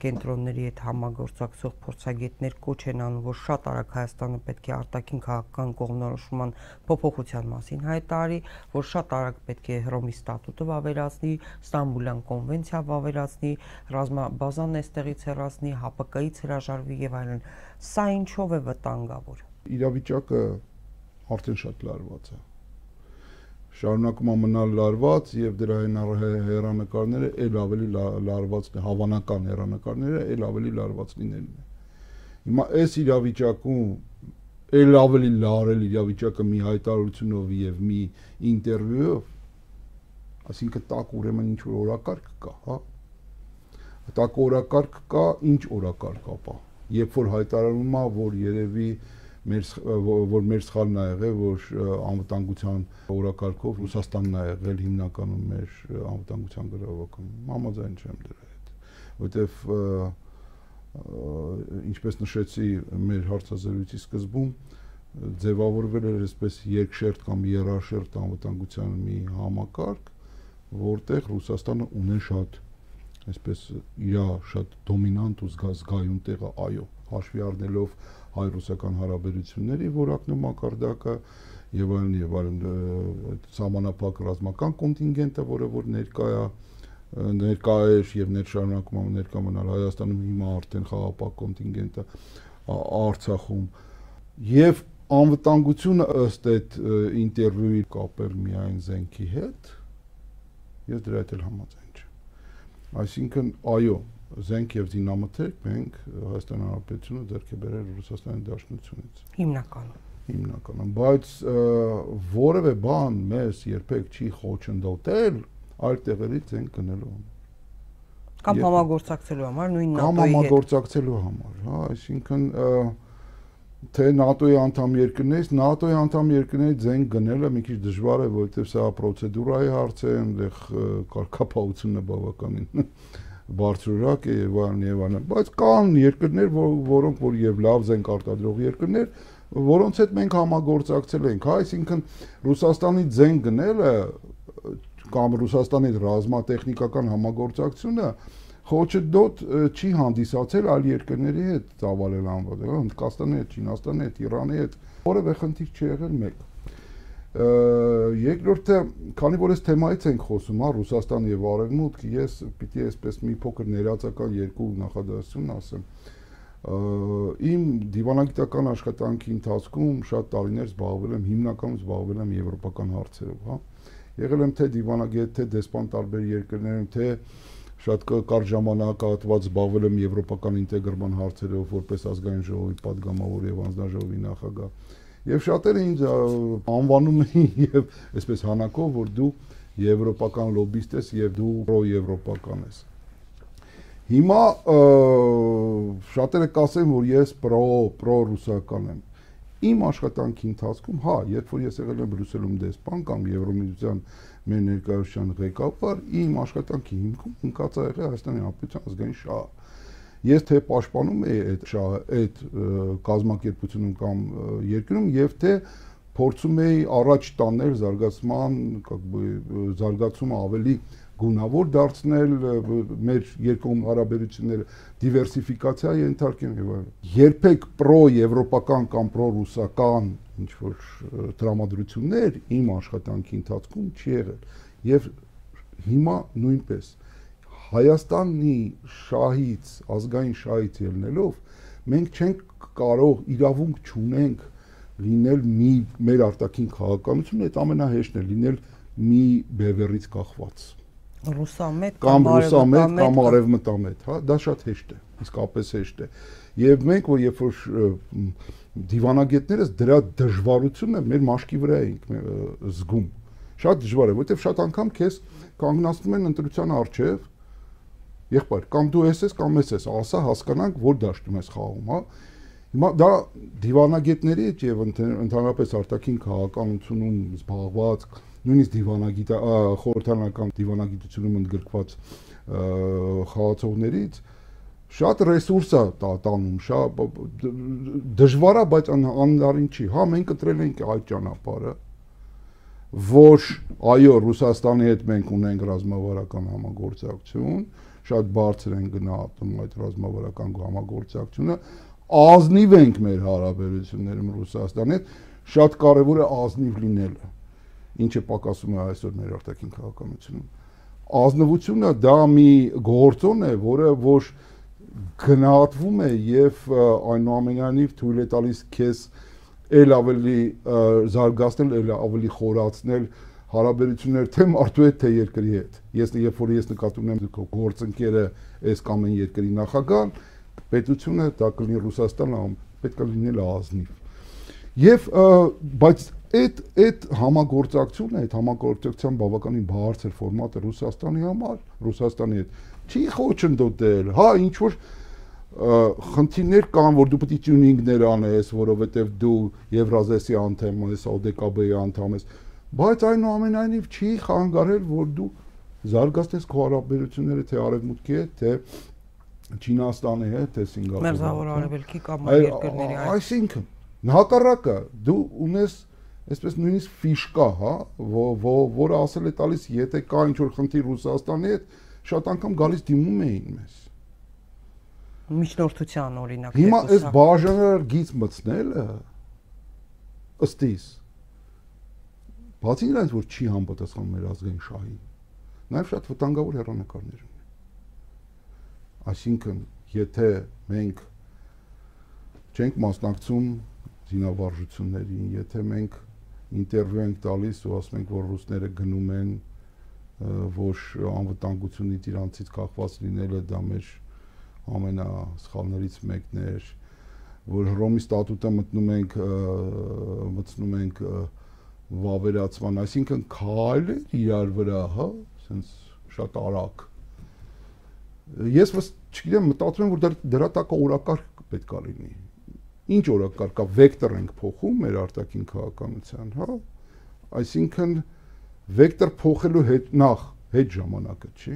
կենտրոնների հետ համագործակցող փորձագետներ կոչ են անում, որ շատ արագ Հայաստանը պետք է արտաքին քաղաքական կողմնորոշման փոփոխության մասին հայտարարի, որ շատ արագ պետք է Հռոմի ստատուտը վավերացնի, Ստամբուլյան կոնվենցիա վավերացնի, ռազմաբազան էստեղից հեռացնի, Հ Պ Կ-ից հրաժարվի եւ այլն։ Սա ինչով է վտանգավոր։ Իրավիճակը արդեն շատ լարված է։ Շարունակում է մնալ լարված եւ դրա հերանեկարները ել ավելի լարված, հավանական հերանեկարները ել ավելի լարված լինելն է։ Հիմա այս իրավիճակում ել ավելի լարել իրավիճակը մի հայտարարությունով եւ մի ինտերվյուով, այսինքն տակ ուրեմն ինչ որ օրակարգ կա, հա։ Տակ օրակարգ կա, ինչ օրակարգ ապա։ Երբ որ հայտարարում է, որ երևի մեր որ մեր սխալն է եղել, որ անվտանգության օրակարգով Ռուսաստանն է եղել հիմնականում մեր անվտանգության գրավականում։ Համաձայն չեմ դրա հետ, որովհետև ինչպես նշեցի մեր հարցազրույցի սկզբում, ձևավորվել էր այսպես երկշերտ կամ երաշերտ անվտանգության մի համակարգ, որտեղ Ռուսաստանը ունի շատ այսպես իր շատ դոմինանտ ու զգայուն տեղը, այո, հաշվի առնելով հայ-ռուսական հարաբերությունների որակն ու մակարդակը եւ այլն եւ այլն սահմանափակ ռազմական կոնտինգենտը, որը որ ներկա է ներկա է եւ ներշարունակում է ներկա մնալ Հայաստանում, հիմա արդեն խաղապահ կոնտինգենտը Արցախում եւ անվտանգությունը ըստ այդ ինտերվյուի կապել միայն զենքի հետ, ես դրա հետ էլ համաձայն չեմ։ Այսինքն, այո, զենք եւ զինամթերք մենք Հայաստան Հանրապետությունը ձեռք է բերել Ռուսաստանի Դաշնությունից։ Հիմնականում։ Հիմնականում, բայց որևէ բան մեզ երբեք չի խոչընդոտել այլ տեղերից զենք գնելու համար։ Կամ համագործակցելու համար, նույն ՆԱՏՕ-ի հետ։ Կամ համագործակցելու համար, հա, այսինքն թե ՆԱՏՕ-ի անդամ երկրներից, ՆԱՏՕ-ի անդամ երկրներից զենք գնելը մի քիչ դժվար է, որովհետեւ սա պրոցեդուրայի հարց է, այնտեղ կարգապահությունը բավականին բարձրորակ է եւ այլն եւ այլն, բայց կան երկրներ, որոնք որ եւ լավ զենք արտադրող երկրներ, որոնց հետ մենք համագործակցել ենք, հա, այսինքն Ռուսաստանի զենք գնելը կամ Ռուսաստանի ռազմատեխնիկական համագործակցությունը խոչընդոտ չի հանդիսացել այլ երկրների հետ ծավալել անվան, Հնդկաստանի հետ, Չինաստանի հետ, Իրանի հետ, որևէ խնդիր չի եղել մեկ։ Երկրորդը, քանի որ այս թեմայից ենք խոսում, հա, Ռուսաստան եւ Արևմուտք, ես պիտի այսպես մի փոքր ներածական երկու նախադասություն ասեմ։ Իմ դիվանագիտական աշխատանքի ընթացքում շատ տարիներ զբաղվել եմ, հիմնականում զբաղվել եմ եվրոպական հարցերով, հա։ Եղել եմ թե դիվանագետ, թե դեսպան տարբեր երկրներում, թե շատ կարճ ժամանակահատված զբաղվել եմ եվրոպական ինտեգրման հարցերով, որպես ազգային ժողովի падգամավոր եւ անձնաժողովի նախագահ։ Եվ շատերը ինձ անվանում էին եւ այսպես հանակով, որ դու եվրոպական լոբիստ ես եւ դու պրոեվրոպական ես։ Հիմա շատերը կասեն, որ ես պրո պրո-ռուսական եմ։ Իմ աշխատանքի ընթացքում, հա, երբ որ ես եղել եմ Բրյուսելում դեսպան կամ Եվրոմիության մեր ներկայացության ղեկավար, իմ աշխատանքի հիմքում ընկած է եղել Հայաստանի Հանրապետության ազգային շահը։ Ես թե պաշտպանում էի այդ շահը, այդ կազմակերպությունում կամ երկրում, եւ թե փորձում էի առաջ տանել զարգացման, как бы զարգացումը ավելի գունավոր դարձնել, մեր երկկողմ հարաբերությունները դիվերսիֆիկացիա ենթարկեն եւ այլն։ Երբեք պրո-եվրոպական կամ պրո-ռուսական ինչ որ տրամադրություններ իմ աշխատանքի ընթացքում չի եղել։ Եվ հիմա նույնպես Հայաստանի շահից, ազգային շահից ելնելով մենք չենք կարող, իրավունք չունենք լինել մի մեր արտաքին քաղաքականություն, այդ ամենահեշտն է լինել մի բևեռից կախված։ Ռուսամետ կամ ռուսամետ կամ արևմտամետ, հա, դա շատ հեշտ է, իսկապես հեշտ է։ Եվ մենք որ երբ որ դիվանագետներս դրա դժվարությունը մեր մաշկի վրա ենք զգում։ Շատ դժվար է, որովհետև շատ անգամ քեզ կանգնացնում են ընտրության առջև, եղբայր, կամ դու ես ես կամ ես ես, ասա հասկանանք, որ դաշտում ես խաղում, հա։ Հիմա դա դիվանագետների եւ ընդհանրապես արտաքին քաղաքականությունում զբաղված, նույնիսկ դիվանագիտ խորհրդարանական դիվանագիտությունում ընդգրկված խաղացողներից շատ ռեսուրս է տանում, շատ դժվար է, բայց անհնարին չի։ Հա, մենք ընտրել ենք այդ ճանապարհը, որ այո, Ռուսաստանի հետ մենք ունենք ռազմավարական համագործակցություն, շատ բարձր են գնահատում այդ ռազմավարական համագործակցությունը, ազնիվ ենք մեր հարաբերություններում Ռուսաստանի հետ, շատ կարևոր է ազնիվ լինելը, ինչը պակասում է այսօր մեր արտաքին քաղաքականությունում։ Ազնվությունը դա մի գործոն է, որը որ գնահատվում է եւ այնուամենայնիվ թույլ է տալիս քեզ ել ավելի զարգացնել, ել ավելի խորացնել հարաբերություններ թե մարդու հետ, թե երկրի հետ։ Ես երբ որ ես նկատում եմ գործընկերը այս կամ այն երկրի նախագահ, պետությունը դա կլինի Ռուսաստանը, պետք է լինել ազնիվ։ Եվ բայց այդ այդ համագործակցությունը, այդ համագործակցության բավականին բարձր ֆորմատը Ռուսաստանի համար, Ռուսաստանի հետ չի խոչընդոտել, հա, ինչ որ խնդիրներ կան, որ դու պետք է տյունինգներ անես, որովհետև դու Եվրազիայի անդամ ես, օ դե կա բի անդամ ես, բայց այնուամենայնիվ չի խանգարել, որ դու զարգացնես քո հարաբերությունները թե Արևմուտքի հետ, թե Չինաստանի հետ, թե Սինգապուրի հետ։ Մերձավոր Արևելքի կամ այլ երկրների հետ։ Այսինքն, հակառակը, դու ունես այսպես նույնիսկ ֆիշկա, հա, որը ասել է տալիս, եթե կա ինչ-որ խնդիր Ռուսաստանի հետ, շատ անգամ գալիս դիմում էին մեզ։ Միջնորդության օրինակ։ Հիմա այս բաժանար գիծ մտցնելը ըստ իս բացի նրանից, որ չի համապատասխանում մեր ազգային շահին, նաև շատ վտանգավոր հեռանկարներ ունի։ Այսինքն, եթե մենք չենք մասնակցում զինավարժություններին, եթե մենք ինտերվյու ենք տալիս ու ասում ենք, որ ռուսները գնում են, որ անվտանգությունից իրանցից կախված լինելը դա մեր ամենասխալներից մեկն էր, որ Հռոմի ստատուտը մտնում ենք, մտնում ենք վավերացման, այսինքն քայլեր իրար վրա, հա, ասենց շատ արագ։ Ես չգիտեմ, մտածում եմ, որ դրա տակ օրակարգ պետք է լինի։ Ինչ օրակարգ կա, վեկտոր ենք փոխում մեր արտաքին քաղաքականության, հա, այսինքն վեկտոր փոխելու հետ նախ հետ ժամանակը, չի։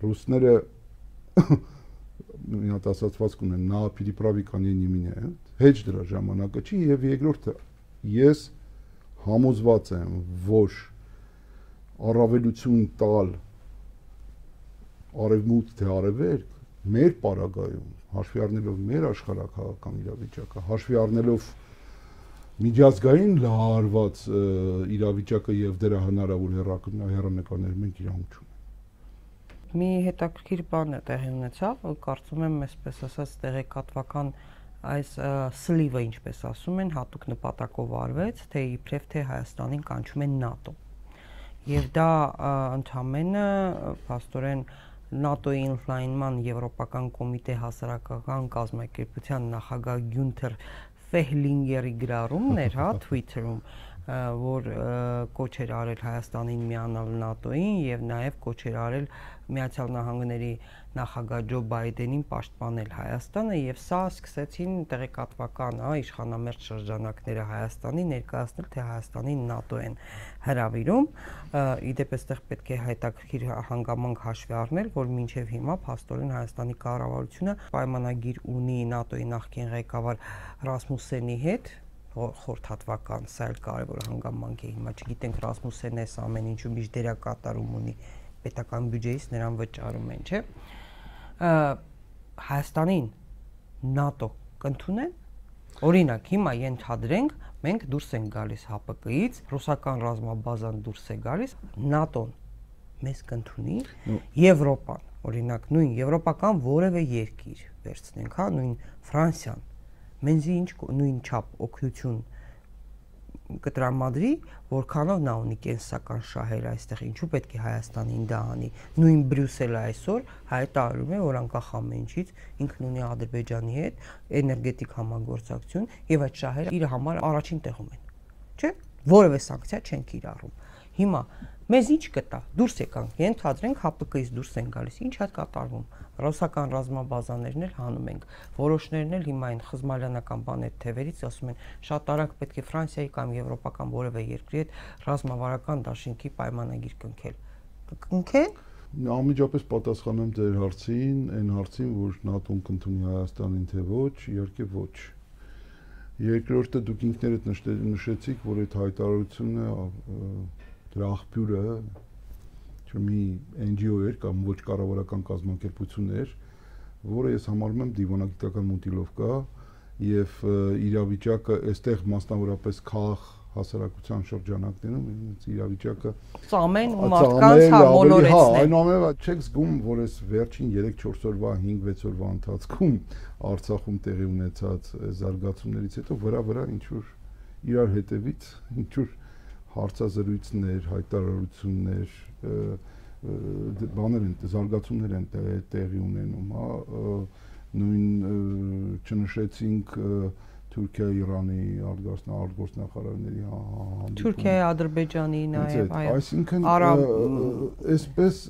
Ռուսները մի հատ ասացվածք ունեն, նա պիրիպրավիկանի նիմինը, հետ դրա ժամանակը չի, եւ երկրորդը, ես համոզված եմ, որ առավելություն տալ արևմուտք թե արևելք մեր պարագայում, հաշվի առնելով մեր աշխարհակաղակական իրավիճակը, հաշվի առնելով միջազգային լարված իրավիճակը եւ դրա հնարավոր հեռանկարներ մենք իրավունք չունենք։ Մի հետաքրքիր բան է տեղի ունեցավ, կարծում եմ, այսպես ասած, տեղեկատվական այս սլիվը, ինչպես ասում են, հատուկ նպատակով արվեց, թե իբրև թե Հայաստանին կանչում են ՆԱՏՕ։ Եվ դա ընդհանրապես փաստորեն ՆԱՏՕ-ի ընդլայնման Եվրոպական կոմիտե հասարակական կազմակերպության նախագահ Գյունթեր Ֆեհլինգերի գրառումն էր, հա, Twitter-ում, որ կոչ էր արել Հայաստանին միանալ ՆԱՏՕ-ին եւ նաեւ կոչ էր արել Միացյալ Նահանգների նախագահ Ջո Բայդենին պաշտպանել Հայաստանը եւ սա սկսեցին տեղեկատվական, հա, իշխանամերձ շրջանակները Հայաստանի ներկայացնել, թե Հայաստանին ՆԱՏՕ են հրավիրում, իդեպ այստեղ պետք է հետաքրքիր հանգամանք հաշվի առնել, որ մինչեւ հիմա փաստորեն Հայաստանի կառավարությունը պայմանագիր ունի ՆԱՏՕ-ի նախկին ղեկավար Ռասմուսենի հետ, խորհրդատվական, սա էլ կարևոր հանգամանք է, հիմա չգիտենք Ռասմուսենն էս ամեն ինչու միշտ դերակատարում ունի պետական բյուջեից նրան վճարում են, չէ՞։ Հայաստանին ՆԱՏՕ կընդունեն։ Օրինակ, հիմա ենթադրենք, մենք դուրս ենք գալիս ՀԱՊԿ-ից, ռուսական ռազմաբազան դուրս է գալիս, ՆԱՏՕ-ն մեզ կընդունի, Եվրոպան, օրինակ, նույն եվրոպական որևէ երկիր վերցնենք, հա, նույն Ֆրանսիան, մենզի ինչ նույն չափ օգնություն կտրամադրի, որքանով նա ունի կենսական շահեր այստեղ, ինչու պետք է Հայաստանին դա անի։ Նույն Բրյուսելը այսօր հայտարարում է, որ անկախ ամեն ինչից ինքն ունի Ադրբեջանի հետ էներգետիկ համագործակցություն եւ այդ շահերը իր համար առաջին տեղում են, չէ՞։ Որևէ սանկցիա չեն կիրառում։ Հիմա մեզ ինչ կտա։ Դուրս եկանք, ենթադրենք ՀԱՊԿ-ից դուրս են գալիս, ինչ է կատարվում։ Ռուսական ռազմաբազաներն էլ հանում ենք։ Որոշներն էլ հիմա այն խզմալյանական բաներ թևերից ասում են, շատ արագ պետք է Ֆրանսիայի կամ եվրոպական որևէ երկրի հետ ռազմավարական դաշինքի պայմանագիր կնքել։ Կնքեն։ Անմիջապես պատասխանեմ ձեր հարցին, այն հարցին, որ ՆԱՏՕ-ն կընդունի Հայաստանին թե ոչ, իհարկե ոչ։ Երկրորդը դուք ինքներդ նշեցիք, որ այդ հայտարարությունը դրա աղբյուրը մի N G O էր կամ ոչ կառավարական կազմակերպություն էր, որը ես համարում եմ դիվանագիտական մուտիլովկա եւ իրավիճակը այստեղ մասնավորապես քաղաք հասարակության շրջանակներում իրավիճակը ծամեն ու մարդկանց համոլորեցնել։ Հա, այնուամենայնիվ չեք զգում, որ այս վերջին երեք-չորս օրվա, հինգ-վեց օրվա ընթացքում Արցախում տեղի ունեցած զարգացումներից հետո վրա-վրա ինչ որ իրար հետևից ինչ որ հարցազրույցներ, հայտարարություններ, բաներ են, զարգացումներ են տեղի ունենում, հա, նույն չնշեցինք Թուրքիա-Իրանի արտգործնախարարների հանդիպում, Թուրքիայի, Ադրբեջանի նաև, այո, այսինքն այսպես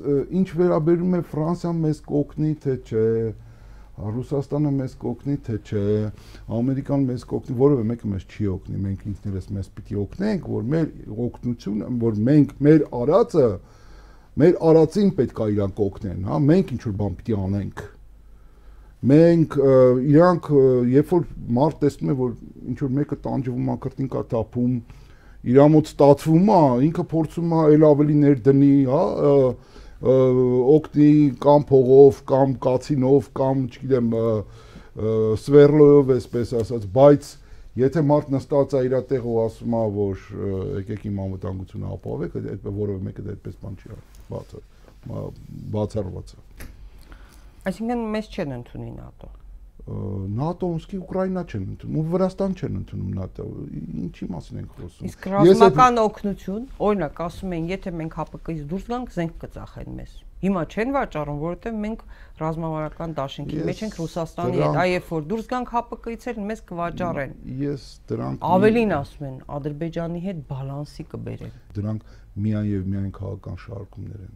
ինչ վերաբերում է Ֆրանսիան մեզ կօգնի թե չէ, Ռուսաստանը մեզ կօգնի թե չէ, Ամերիկան մեզ կօգնի, որևէ մեկը մեզ չի օգնի, մենք ինքներս մեզ պիտի օգնենք, որ մեր օգնությունը, որ մենք մեր արածը, մեր արածին պետք է իրանք օգնեն, հա, մենք ինչ որ բան պիտի անենք։ Մենք իրանք երբ որ մարդ տեսնում է, որ ինչ որ մեկը տանջվում է, կրտին կա թափում, իր մոտ ստացվում է, ինքը փորձում է ել ավելի ներդնի, հա, օգնի կամ փողով, կամ կացինով, կամ չգիտեմ, սվերլոյով, այսպես ասած, բայց եթե մարդ նստած է իր տեղը ու ասում է, որ եկեք իմ անվտանգությունը ապահովեք, այդ որևէ մեկը դա այդպես բան չի արել, բացառված է։ Այսինքն մեզ չեն ընդունի ՆԱՏՕ։ ՆԱՏՕ-ն սկի Ուկրաինա չեն ընդունում, ու Վրաստան չեն ընդունում ՆԱՏՕ, ինչի մասին ենք խոսում։ Իսկ ռազմական օգնություն, օրինակ ասում են, եթե մենք ՀԱՊԿ-ից դուրս գանք, զենք կծախեն մեզ։ Հիմա չեն վաճառում, որովհետև մենք ռազմավարական դաշինքի մեջ ենք Ռուսաստանի հետ, այ երբ որ դուրս գանք ՀԱՊԿ-ից էլ մեզ կվաճառեն։ Ես դրանք ավելին ասում են, Ադրբեջանի հետ բալանսի կբերեն։ Դրանք միայն եւ միայն քաղաքական շարժումներ են,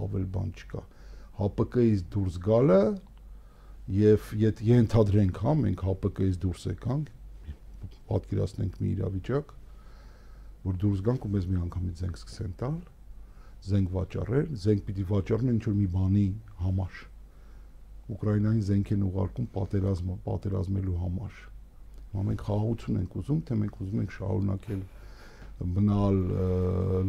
ավել բան չկա։ ՀԱՊԿ-ից դուրս գալը եւ եթե ենթադրենք, հա, մենք ՀԱՊԿ-ից դուրս եկանք, պատկերացնենք մի իրավիճակ, որ դուրս գանք ու մեզ մի անգամից զենք սկսեն տալ, զենք վաճառել, զենք պիտի վաճառեն ինչ-որ մի բանի համար։ Ուկրաինային զենք են ուղարկում պատերազմը, պատերազմելու համար։ Հիմա մենք խաղաղություն ենք ուզում, թե մենք ուզում ենք շարունակել մնալ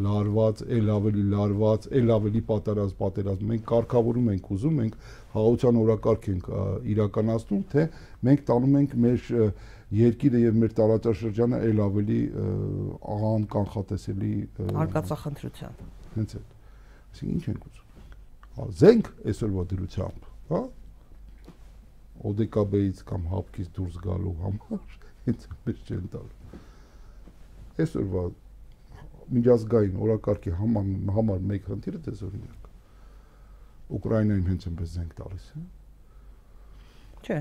լարված, ել ավելի լարված, ել ավելի պատերազմ, պատերազմ։ Մենք կարգավորում ենք ուզում, մենք խաղաղության օրակարգ ենք իրականացնում, թե մենք տանում ենք մեր երկիրը եւ մեր տարածաշրջանը ել ավելի անկանխատեսելի արկածախնդրության։ Հենց այդ։ Այսինքն ինչ ենք ուզում։ Զենք այսօրվա դրությամբ, հա? օ դե կա բեից կամ հապկից դուրս գալու համար, հենց մեծ չեն տալ։ Այսօրվա միջազգային օրակարգի համար համար մեկ խնդիրը դες օրինակ։ Ուկրաինային հենց այնպես զենք տալիս է։ Չէ։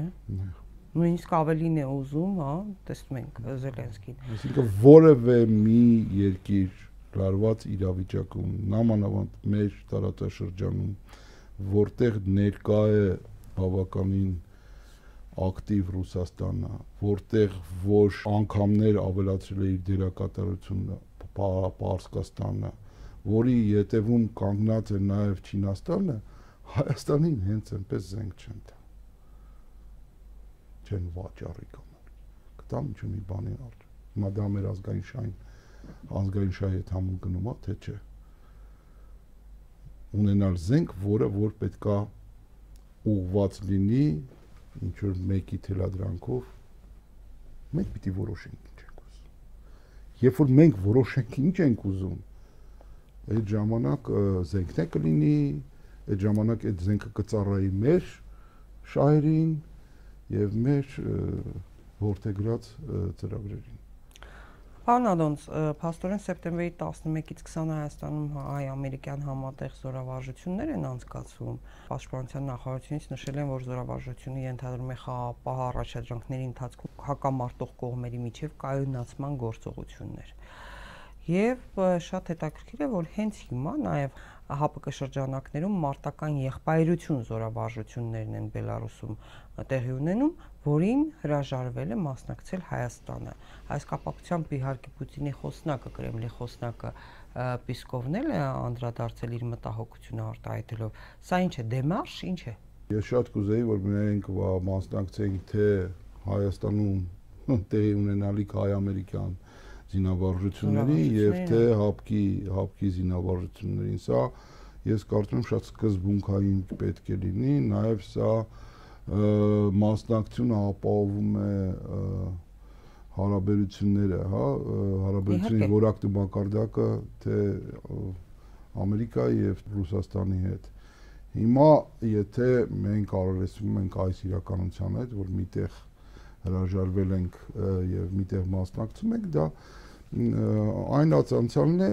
Նույնիսկ ավելին է ուզում, հա, տեսնում ենք Զելենսկին։ Այսինքն որևէ մի երկիր լարված իրավիճակում, նամանավանդ մեր տարածաշրջանում, որտեղ ներկա է բավականին ակտիվ Ռուսաստանը, որտեղ ոչ անգամներ ավելացրել է իր դերակատարությունը Պարսկաստանը, որի ետևում կանգնած է նաև Չինաստանը, Հայաստանին հենց այնպես զենք չեն տա։ Չեն վաճառի կանալ։ Կտամ ինչ մի բանի արջ։ Հիմա դա մեր ազգային շահին, ազգային շահի հետ համուն գնում է, թե չէ։ Ունենալ զենք, որը որ պետքա ուղղված լինի ինչ որ մեկի թելադրանքով, մենք պիտի որոշենք ինչ ենք ուզում։ Երբ որ մենք որոշենք ինչ ենք ուզում, այդ ժամանակ զենքն է կլինի, այդ ժամանակ այդ զենքը կծառայի մեր շահերին եւ մեր որդեգրած ծրագրերին։ Պարոն Ադոնց, փաստորեն սեպտեմբերի տասնմեկից քսանը Հայաստանում հայ-ամերիկյան համատեղ զորավարժություններ են անցկացվում։ Պաշտպանության նախարարությունից նշել են, որ զորավարժությունը ենթադրում է խաղաղապահ առաջադրանքների ընթացքում հակամարտող կողմերի միջև կայունացման գործողություններ։ Եվ շատ հետաքրքիր է, որ հենց հիմա նաև ՀԱՊԿ շրջանակներում մարտական եղբայրություն զորավարժություններն են Բելարուսում տեղի ունենում, որին հրաժարվել է մասնակցել Հայաստանը։ Այս կապակցությամբ իհարկե Պուտինի խոսնակը, Կրեմլի խոսնակը Պիսկովն էլ է անդրադարձել իր մտահոգությունը արտահայտելով։ Սա ինչ է, դեմարշ, ինչ է։ Ես շատ կուզեի, որ մենք մասնակցենք թե Հայաստանում տեղի ունենալիք հայ-ամերիկյան զինավարժությունների եւ թե հապկի հապկի զինավարժություններին։ Սա ես կարծում եմ շատ սկզբունքային պետք է լինի, նաեւ սա մասնակցությունը ապահովում է հարաբերությունները, հա, հարաբերությունների որակը մակարդակը թե Ամերիկայի եւ Ռուսաստանի հետ։ Հիմա եթե մենք արարեցնում ենք այս իրականության հետ, որ միտեղ հրաժարվել ենք եւ միտեղ մասնակցում ենք, դա այն ացանցալն է,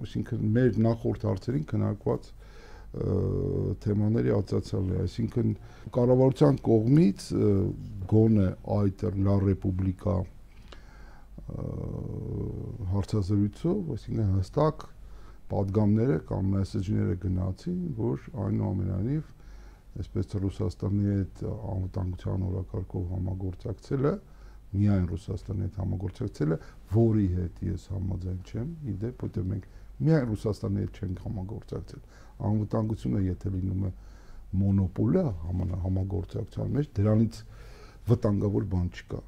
այսինքն մեր նախորդ հարցերին քննարկված թեմաների ացանցալն է, այսինքն կառավարության կողմից գոնե այդ Լա Ռեպուբլիկա հարցազրույցով, այսինքն հստակ պատգամները կամ մեսեջները գնացին, որ այնուամենայնիվ այսպես Ռուսաստանի հետ անվտանգության օրակարգով համագործակցելը, միայն Ռուսաստանի հետ համագործակցելը, որի հետ ես համաձայն չեմ, իդեպ, որտեղ մենք միայն Ռուսաստանի հետ չենք համագործակցել։ Անվտանգությունը եթե լինում է մոնոպոլը համագործակցության մեջ, դրանից վտանգավոր բան չկա։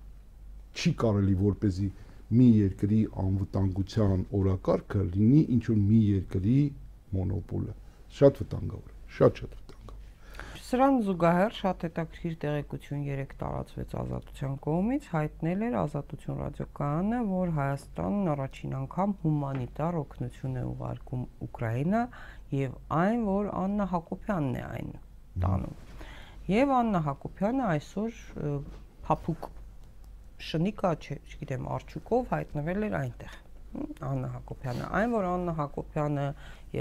Չի կարելի որպեսզի մի երկրի անվտանգության օրակարգը լինի ինչ որ մի երկրի մոնոպոլը։ Շատ վտանգավոր է, շատ-շատ Սրան զուգահեռ շատ հետաքրքիր տեղեկություն երեք տարածվեց Ազատության կողմից, հայտնել էր Ազատություն ռադիոկայանը, որ Հայաստանն առաջին անգամ հումանիտար օգնություն է ուղարկում Ուկրաինա եւ այն, որ Աննա Հակոբյանն է այն տանում։ Եվ Աննա Հակոբյանը այսօր փափուկ շնիկա, չգիտեմ, արջուկով հայտնվել էր այնտեղ։ Աննա Հակոբյանը, այն որ Աննա Հակոբյանը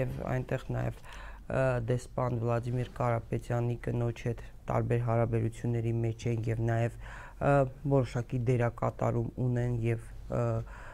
եւ այնտեղ նաեւ դեսպան Վլադիմիր Կարապետյանի կնոջ հետ տարբեր հարաբերությունների մեջ են եւ նաեւ որոշակի դերակատարում ունեն եւ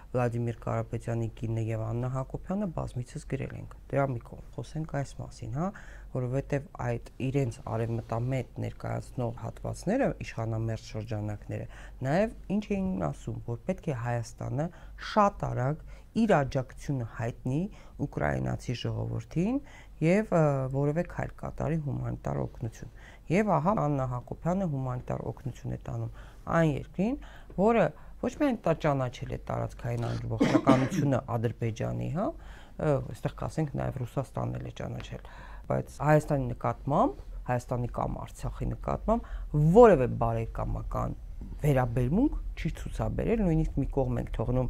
Վլադիմիր Կարապետյանի կինը եւ Աննա Հակոբյանը բազմիցս գրել ենք։ Դրա մի կողմ խոսենք այս մասին, հա, որովհետեւ այդ իրենց արևմտամետ ներկայացնող հատվածները, իշխանամերձ շրջանակները, նաեւ ինչ էին ասում, որ պետք է Հայաստանը շատ արագ իր աջակցությունը հայտնի ուկրաինացի ժողովրդին եւ որևէ քայլ կատարի հումանիտար օգնություն։ Եվ ահա Աննա Հակոբյանը հումանիտար օգնություն է տանում այն երկրին, որը ոչ միայն ճանաչել է տարածքային ամբողջականությունը Ադրբեջանի, հա, այստեղ կասենք նաեւ Ռուսաստանն էլ է ճանաչել, բայց Հայաստանի նկատմամբ, Հայաստանի կամ Արցախի նկատմամբ որևէ բարեկամական վերաբերմունք չի ցուցաբերել, նույնիսկ մի կողմ ենք թողնում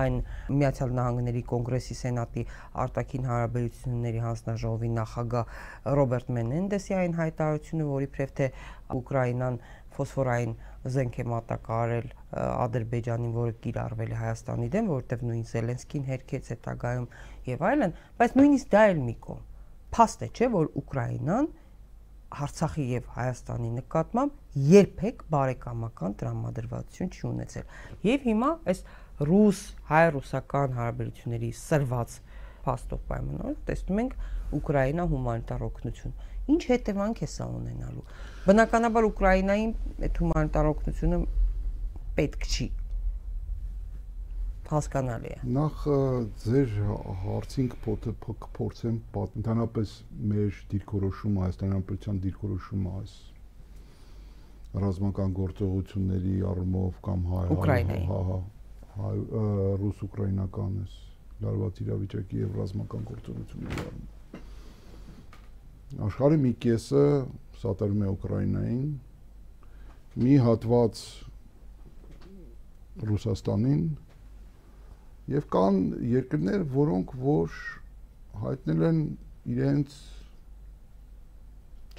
այն Միացյալ Նահանգների Կոնգրեսի Սենատի արտաքին հարաբերությունների հանձնաժողովի նախագահ Ռոբերտ Մենենդեսի այն հայտարարությունը, որի իբրև թե Ուկրաինան ֆոսֆորային զենք է մատակարարել Ադրբեջանին, որը կիրառվել է Հայաստանի դեմ, որովհետև նույն Զելենսկին հերքեց հետագայում եւ այլն, բայց նույնիսկ դա էլ մի կողմ։ Փաստ է, չէ, որ Ուկրաինան Արցախի եւ Հայաստանի նկատմամբ երբեք բարեկամական տրամադրվածություն չի ունեցել։ Եվ հիմա այս ռուս հայ-ռուսական հարաբերությունների սրված փաստով պայմանով տեսնում ենք Ուկրաինա հումանիտար օգնություն։ Ինչ հետևանք է սա ունենալու։ Բնականաբար Ուկրաինային այդ հումանիտար օգնությունը պետք չի։ Հասկանալի է։ Նախ ձեր հարցին կփորձեմ ընդհանրապես մեր դիրքորոշումը, Հայաստանի Հանրապետության դիրքորոշումը այս ռազմական գործողությունների առումով կամ հայ հայ ռուս-ուկրաինական էս լարված իրավիճակի եւ ռազմական գործողությունների առումով։ Աշխարհի մի կեսը սատարում է Ուկրաինային, մի հատված Ռուսաստանին եւ կան երկրներ, որոնք որ հայտնել են իրենց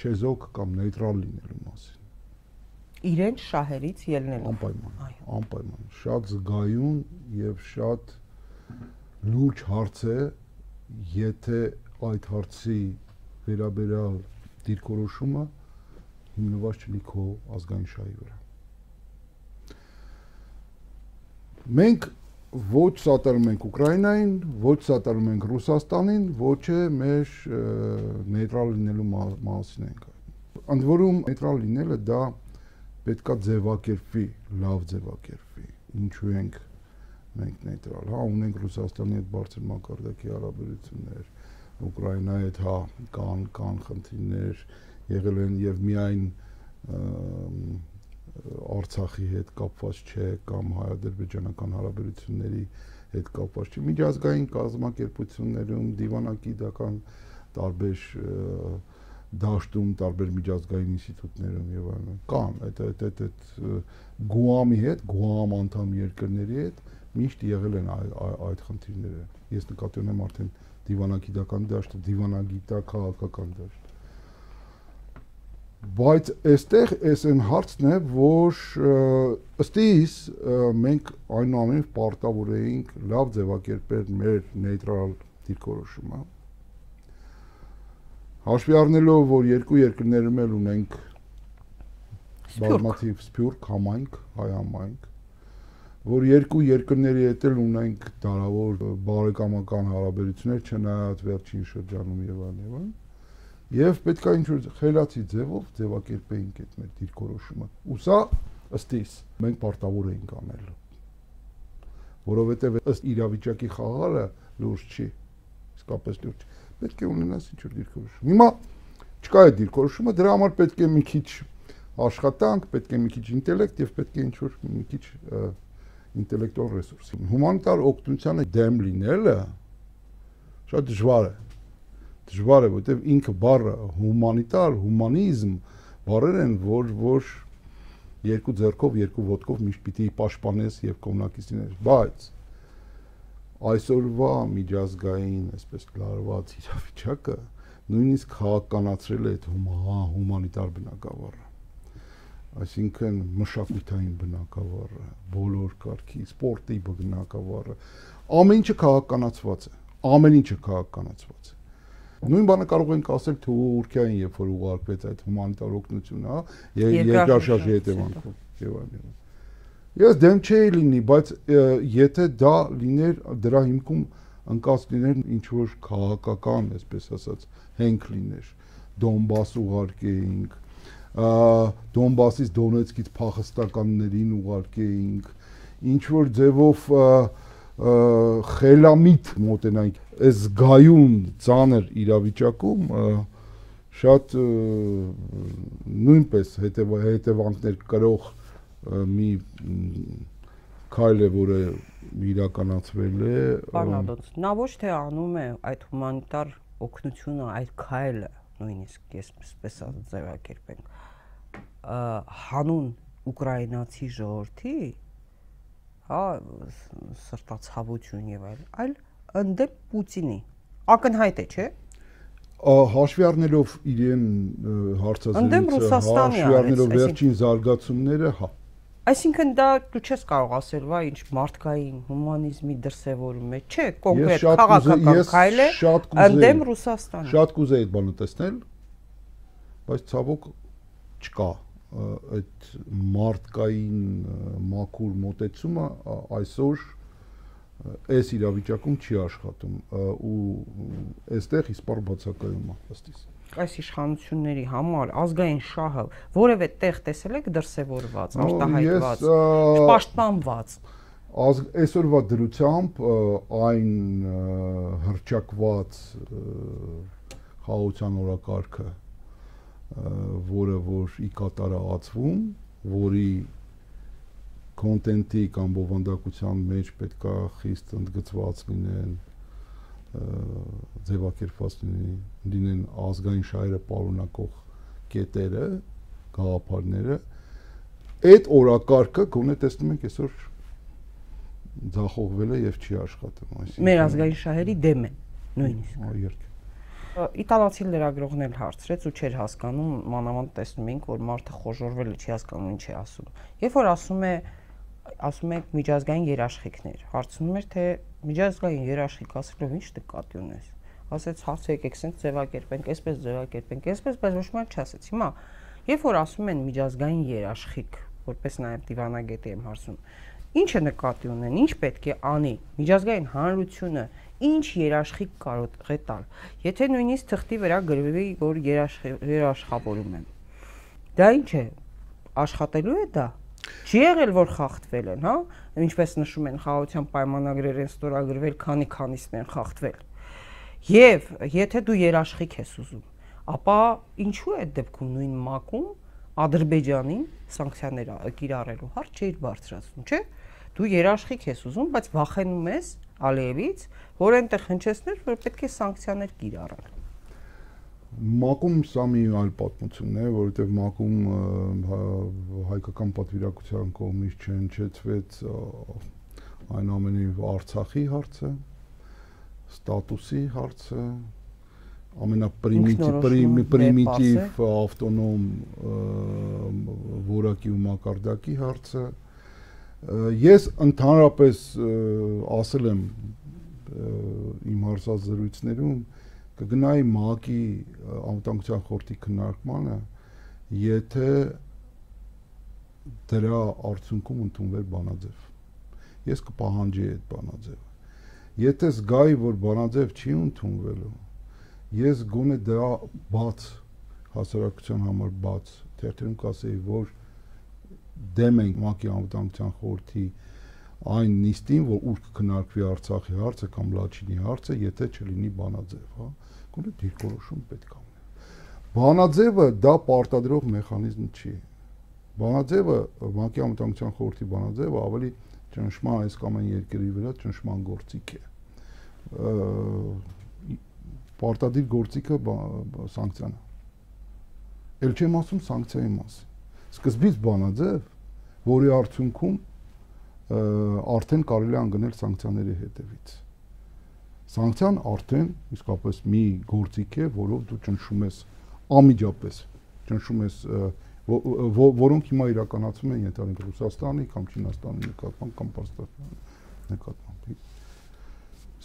չեզոք կամ նեյտրալ լինելու մասին։ Իրենց շահերից ելնելու։ Անպայման, անպայման։ Շատ զգայուն եւ շատ լուրջ հարց է, եթե այդ հարցի վերաբերյալ դիրքորոշումը հիմնված չլինի քո ազգային շահի վրա։ Մենք ոչ սատարում ենք Ուկրաինային, ոչ սատարում ենք Ռուսաստանին, ոչ է մեր նեյտրալ լինելու մասին ենք։ Ընդ որում նեյտրալ լինելը դա պետքա ձևակերպվի, լավ ձևակերպվի։ Ինչու ենք մենք նեյտրալ, հա, ունենք Ռուսաստանի հետ բարձր մակարդակի հարաբերություններ, Ուկրաինայի հետ հա կան կան խնդիրներ եղել են եւ միայն Արցախի հետ կապված չէ կամ հայ-ադրբեջանական հարաբերությունների հետ կապված չէ։ Միջազգային կազմակերպություններում, դիվանագիտական տարբեր դաշտում, տարբեր միջազգային ինստիտուտներում եւ այլն կան այդ այդ այդ այդ Գուամի հետ, Գուամ անդամ երկրների հետ միշտ եղել են այդ խնդիրները։ Ես նկատի ունեմ արդեն դիվանագիտական դաշտը, դիվանագիտա-քաղաքական դաշտ։ Բայց այստեղ էս այն հարցն է, որ ըստ իս մենք այնուամենայնիվ պարտավոր էինք լավ ձևակերպել մեր նեյտրալ դիրքորոշումը։ Հաշվի առնելով, որ երկու երկրներում էլ ունենք բազմաթիվ սփյուռք համայնք, հայ համայնք, որ երկու երկրների հետ էլ ունենք դարավոր բարեկամական հարաբերություններ, չնայած վերջին շրջանում եւ այլն եւ այլն։ Եվ պետք է ինչ-որ խելացի ձևով ձևակերպեինք այդ մեր դիրքորոշումը։ Ու սա ըստ իս մենք պարտավոր էինք անել։ Որովհետև ըստ իրավիճակի խաղալը լուրջ չի, իսկապես լուրջ։ Պետք է ունենաս ինչ-որ դիրքորոշում։ Հիմա չկա այդ դիրքորոշումը, դրա համար պետք է մի քիչ աշխատանք, պետք է մի քիչ ինտելեկտ եւ պետք է ինչ-որ մի քիչ ինտելեկտուալ ռեսուրս։ Հումանիտար օգնությանը դեմ լինելը շատ դժվար է։ Դժվար է, որտեղ ինքը բառը հումանիտար, հումանիզմ բառեր են, որ որ երկու ձեռքով, երկու ոտքով միշտ պիտի պաշտպանես եւ կողմնակից լինես, բայց այսօրվա միջազգային, այսպես լարված իրավիճակը նույնիսկ քաղաքականացրել է այդ հումանիտար բնագավառը։ Այսինքն մշակութային բնագավառը, բոլոր կարգի, սպորտի բնագավառը, ամեն ինչը քաղաքականացված է, ամեն ինչը քաղաքականացված է։ Նույն բանը կարող ենք ասել Թուրքիային, երբ որ ուղարկվեց այդ հումանիտար օգնությունը, հա, երկրաշարժի հետևանքով եւ այլն։ Ես դեմ չէի լինի, բայց եթե դա լիներ, դրա հիմքում ընկած լիներ ինչ որ քաղաքական, այսպես ասած, հենք լիներ, Դոնբաս ուղարկեինք, Դոնբասից Դոնեցկից փախստականներին ուղարկեինք, ինչ որ ձևով խելամիտ մոտենանք այս զգայուն ծանր իրավիճակում շատ նույնպես հետևանքներ կրող մի քայլ է, որը իրականացվել է։ Բանալոց, նա ոչ թե անում է այդ հումանիտար օգնությունը, այդ քայլը, նույնիսկ ես այսպես ձևակերպենք, հանուն ուկրաինացի ժողովրդի, հա, սրտացավություն եւ այլ, այլ ընդդեմ Պուտինի։ Ակնհայտ է, չէ՞։ Հաշվի առնելով իրեն հարցազրույցը, հաշվի առնելով վերջին զարգացումները, հա։ Այսինքն դա դու չես կարող ասել, վայ, ինչ մարդկային հումանիզմի դրսևորում է, չէ, կոնկրետ քաղաքական քայլ է ընդդեմ Ռուսաստանի։ Շատ կուզեի այդ բանը տեսնել, բայց ցավոք չկա այդ մարդկային մաքուր մոտեցումը այսօր այս իրավիճակում չի աշխատում ու այստեղ իսպառ բացակայում է ըստիս այս իշխանությունների համար ազգային շահը որևէ տեղ տեսել եք դրսևորված, արտահայտված, պաշտպանված այսօրվա դրությամբ այն հռչակված խաղաղության օրակարգը որը որ ի կատարածվում, որի կոնտենտի կամ բովանդակության մեջ պետքա խիստ ընդգծված լինեն, ձևակերպված լինեն ազգային շահերը պարունակող կետերը, գաղափարները, այդ օրակարգը գոնե տեսնում ենք այսօր ձախողվել է եւ չի աշխատում, այսինքն մեր ազգային շահերի դեմ են նույնիսկ։ Իտալացի լրագրողն էլ հարցրեց ու չէր հասկանում, մանավանդ տեսնում ենք, որ մարդը խոժոռվել է, չի հասկանում ինչ է ասում։ Երբ որ ասում է, ասում եք միջազգային երաշխիքներ, հարցնում էր, թե միջազգային երաշխիք ասելով ինչ նկատի ունես։ Ասեց, հարցը եկեք սենց ձևակերպենք, այսպես ձևակերպենք, այսպես, բայց ոչ մի չասեց։ Հիմա, երբ որ ասում են միջազգային երաշխիք, որպես նաև դիվանագետի եմ հարցում, ի՞նչը նկատի ունեն, ինչ պետք է անի միջազգային հանրությունը, ինչ երաշխիք կարող է տալ։ Եթե նույնիսկ թղթի վրա գրվի, որ երաշխավորում են։ Դա ինչ է, աշխատելու է դա։ Չի եղել, որ խախտվել են, հա, ինչպես նշում են խաղաղության պայմանագրեր են ստորագրվել, քանի քանիսն են խախտվել։ Եվ եթե դու երաշխիք ես ուզում, ապա ինչու է այդ դեպքում նույն ՄԱԿ-ում Ադրբեջանին սանկցիաներ կիրառելու հարց չէիր բարձրացնում, չէ՞։ Դու երաշխիք ես ուզում, բայց վախենում ես Ալիևից, որ այնտեղ հնչեցներ, որ պետք է սանկցիաներ կիրառել։ ՄԱԿ-ում սա մի այլ պատմություն է, որովհետև ՄԱԿ-ում հայկական պատվիրակության կողմից չհնչեցվեց այն ամենի Արցախի հարցը, ստատուսի հարցը, ամենապրիմիտիվ ավտոնոմ որակի ու մակարդակի հարցը։ Ես ընդհանրապես ասել եմ իմ հարցազրույցներում կգնայի ՄԱԿ-ի անվտանգության խորհրդի քննարկմանը, եթե դրա արդյունքում ընդունվեր բանաձև։ Ես կպահանջեի այդ բանաձևը։ Եթե զգայի, որ բանաձև չի ընդունվելու, ես գոնե դրա բաց հասարակության համար բաց թերթերում կասեի, որ դեմ ենք ՄԱԿ-ի անվտանգության խորհրդի այն նիստին, որ ուր կքննարկվի Արցախի հարցը կամ Լաչինի հարցը, եթե չլինի բանաձև, հա, գոնե դիրքորոշում պետք է ունենա։ Բանաձևը դա պարտադրող մեխանիզմ չի։ Բանաձևը ՄԱԿ-ի անվտանգության խորհրդի բանաձևը ավելի ճնշման այս կամ այն երկրի վրա ճնշման գործիք է։ Պարտադիր գործիքը սանկցիան է։ Էլ չեմ ասում սանկցիայի մասին։ Սկզբից բանաձև, որի արդյունքում արդեն կարելի է անգնել սանկցիաների հետևից։ Սանկցիան արդեն իսկապես մի գործիք է, որով դու ճնշում ես անմիջապես, ճնշում ես, որոնք հիմա իրականացում են ենթադրենք Ռուսաստանի կամ Չինաստանի նկատմամբ կամ Պարսկաստանի նկատմամբ։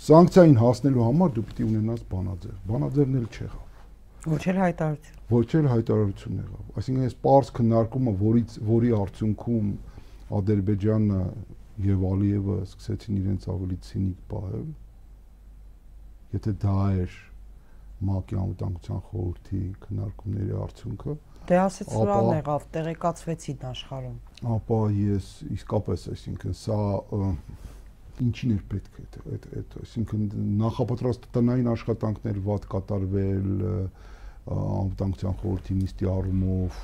Սանկցիային հասնելու համար դու պետք է ունենաս բանաձև։ Բանաձևն էլ չեղավ։ Ոչ էլ հայտարարություն։ Ոչ էլ հայտարարություն եղավ։ Այսինքն այս պարզ քննարկումը, որից որի արդյունքում Ադրբեջանը եւ Ալիևը սկսեցին իրենց ավելի ցինիկ պահել, եթե դա էր ՄԱԿ-ի անվտանգության խորհրդի քննարկումների արդյունքը, դե ասեց սրան եղավ, տեղեկացվեցին աշխարհում։ Ապա ես իսկապես, այսինքն սա ինչին էր պետք է այդ այդ այսինքն նախապատրաստ տնային աշխատանքներ վատ կատարվել անվտանգության խորհրդի նիստի առումով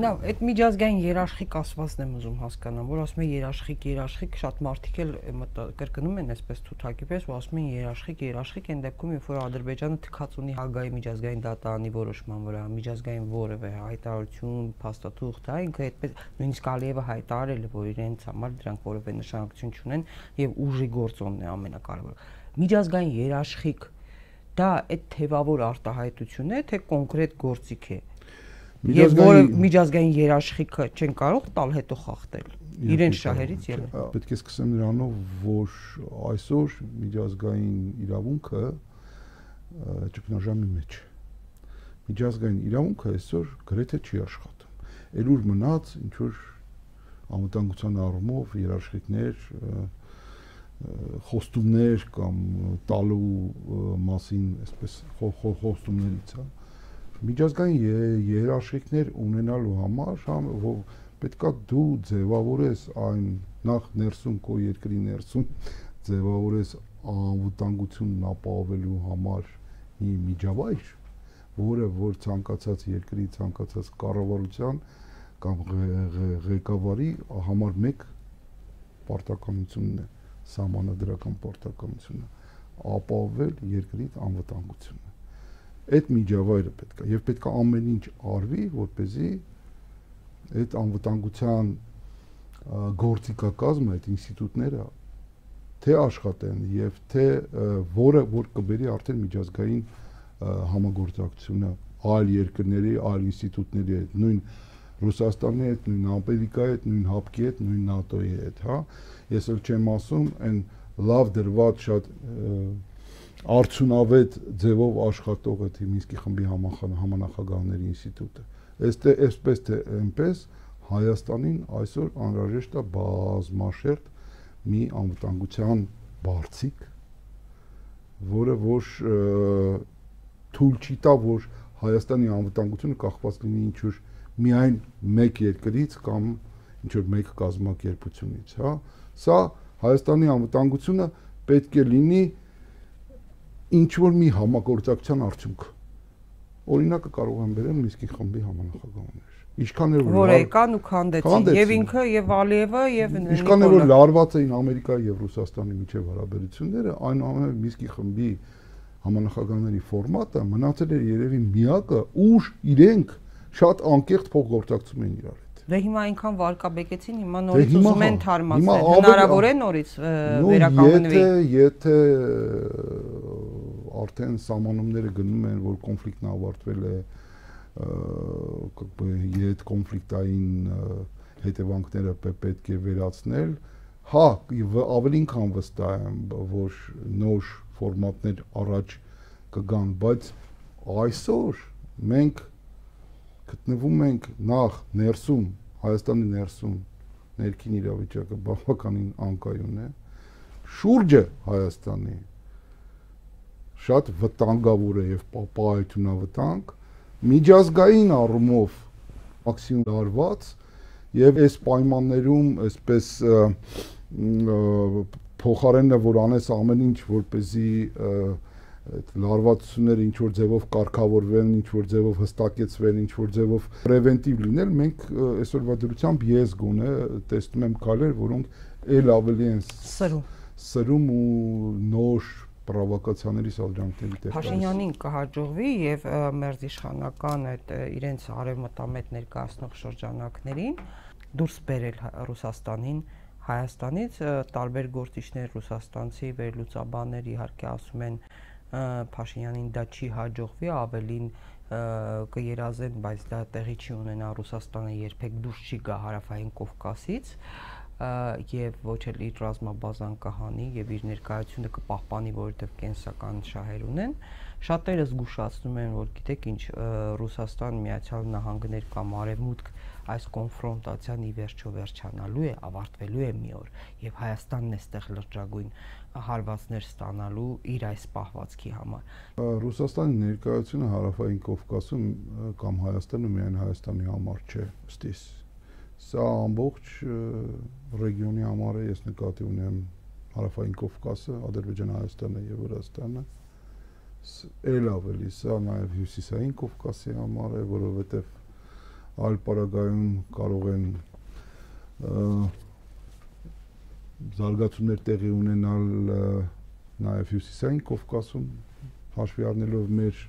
Լավ, այդ միջազգային երաշխիք ասվածն եմ ուզում հասկանամ, որ ասում են երաշխիք, երաշխիք, շատ մարդիկ էլ կրկնում են այսպես թութակի պես, որ ասում են երաշխիք, երաշխիք, այն դեպքում, երբ որ Ադրբեջանը թքած ունի Հագայի միջազգային դատարանի որոշման վրա, միջազգային որևէ հայտարարություն, փաստաթուղթ, դա ինքը այդպես նույնիսկ Ալիևը հայտարարել է, որ իրենց համար դրանք որևէ նշանակություն չունեն եւ ուժի գործոնն է ամենակարևորը։ Միջազգային երաշխիք, դա այդ թևավոր արտահայտություն է, թե կոնկրետ գործիք է։ Եվ որը միջազգային երաշխիքը չեն կարող տալ հետո խախտել իրենց շահերից ելը։ Պետք է սկսեմ նրանով, որ այսօր միջազգային իրավունքը ճգնաժամի մեջ է։ միջազգային իրավունքը այսօր գրեթե չի աշխատում։ Էլ ուր մնաց ինչ որ անվտանգության առումով երաշխիքներ, խոստումներ կամ տալու մասին, այսպես խոստումներից, հա։ Միջազգային երաշխիքներ ունենալու համար պետքա դու ձևավորես այն նախ ներսում քո երկրի ներսում ձևավորես անվտանգությունն ապահովելու համար մի միջավայր, որը որ ցանկացած երկրի ցանկացած կառավարության կամ ղեկավարի համար մեկ պարտականությունն է, սահմանադրական պարտականությունը ապահովել երկրի անվտանգությունը։ Այդ միջավայրը պետք է եւ պետք է ամեն ինչ արվի, որպեսզի այդ անվտանգության գործիքակազմը, այդ ինստիտուտները թե աշխատեն եւ թե որը որ կբերի արդեն միջազգային համագործակցությունը այլ երկրների, այլ ինստիտուտների հետ, նույն Ռուսաստանի հետ, նույն Ամերիկայի հետ, նույն ՀԱՊԿ-ի հետ, նույն ՆԱՏՕ-ի հետ, հա։ Ես էլ չեմ ասում այն լավ դրված շատ արդյունավետ ձևով աշխատող այդ Մինսկի խմբի համանախագահների ինստիտուտը։ Այստեղ այսպես թե այնպես Հայաստանին այսօր անհրաժեշտ է բազմաշերտ մի անվտանգության բարձիկ, որը որ թույլ չի տա, որ Հայաստանի անվտանգությունը կախված լինի ինչ որ միայն մեկ երկրից կամ ինչ որ մեկ կազմակերպությունից, հա։ Սա Հայաստանի անվտանգությունը պետք է լինի ինչ որ մի համագործակցության արդյունք։ Օրինակը կարող եմ բերել Մինսկի խմբի համանախագահներ։ Ինչքան է որ եկան ու քանդեցին եւ ինքը եւ Ալիևը եւ ինչքան է որ լարված էին Ամերիկայի եւ Ռուսաստանի միջև հարաբերությունները, այնուամենայնիվ Մինսկի խմբի համանախագահների ֆորմատը մնացել է երևի միակը, ուր իրենք շատ անկեղծ փոխգործակցում են իրար հետ։ Դե հիմա այնքան վարկաբեկեցին, հիմա նորից ուզում են թարմացնել։ Հնարավոր է նորից վերականգնվի։ Եթե արդեն սահմանումները գնում են, որ կոնֆլիկտն ավարտվել է, այդ կոնֆլիկտային հետևանքները պետք է վերացնել, հա, ավելին քան վստահ եմ, որ նոր ֆորմատներ առաջ կգան, բայց այսօր մենք գտնվում ենք նախ ներսում, Հայաստանի ներսում ներքին իրավիճակը բավականին անկայուն է, շուրջը Հայաստանի շատ վտանգավոր է եւ պահպանությունավտանգ, միջազգային առումով մաքսիմում լարված եւ այս պայմաններում այսպես փոխարենը որ անես ամեն ինչ որպեսզի այդ լարվածությունները ինչ որ ձևով կարգավորվեն, ինչ որ ձևով հստակեցվեն, ինչ որ ձևով պրևենտիվ լինել, մենք այսօրվա դրությամբ ես գոնե տեսնում եմ քայլեր, որոնք ել ավելի են սրում սրում ու նոր պրովոկացիաների սադրանքների տեղ։ Փաշինյանին կհաջողվի եւ մերձիշխանական այդ իրենց արևմտամետ ներկայացնող շրջանակներին դուրս բերել Ռուսաստանին Հայաստանից, տարբեր գործիչներ ռուսաստանցի վերլուծաբաններ իհարկե ասում են Փաշինյանին դա չի հաջողվի, ավելին կերազեն, բայց դա տեղի չի ունենա, Ռուսաստանը երբեք դուրս չի գա Հարավային Կովկասից եւ ոչ էլ իր ռազմաբազան կհանի եւ իր ներկայությունը կպահպանի, որովհետեւ կենսական շահեր ունեն։ Շատերը զգուշացնում են, որ գիտեք ինչ, Ռուսաստան, Միացյալ Նահանգներ կամ Արևմուտք այս կոնֆրոնտացիան ի վերջո վերջանալու է, ավարտվելու է մի օր եւ Հայաստանն է ստեղ լրջագույն հարվածներ ստանալու իր այս պահվածքի համար։ Ռուսաստանի ներկայությունը Հարավային Կովկասում կամ Հայաստանը միայն Հայաստանի համար չէ, ըստիս։ Սա ամբողջ ռեգիոնի համար է, ես նկատի ունեմ Հարավային Կովկասը, Ադրբեջանը, Հայաստանը եւ Վրաստանը։ Էլ ավելի սա նաեւ Հյուսիսային Կովկասի համար է, որովհետեւ այլ պարագայում կարող են զարգացումներ տեղի ունենալ նաև Հյուսիսային Կովկասում, հաշվի առնելով մեր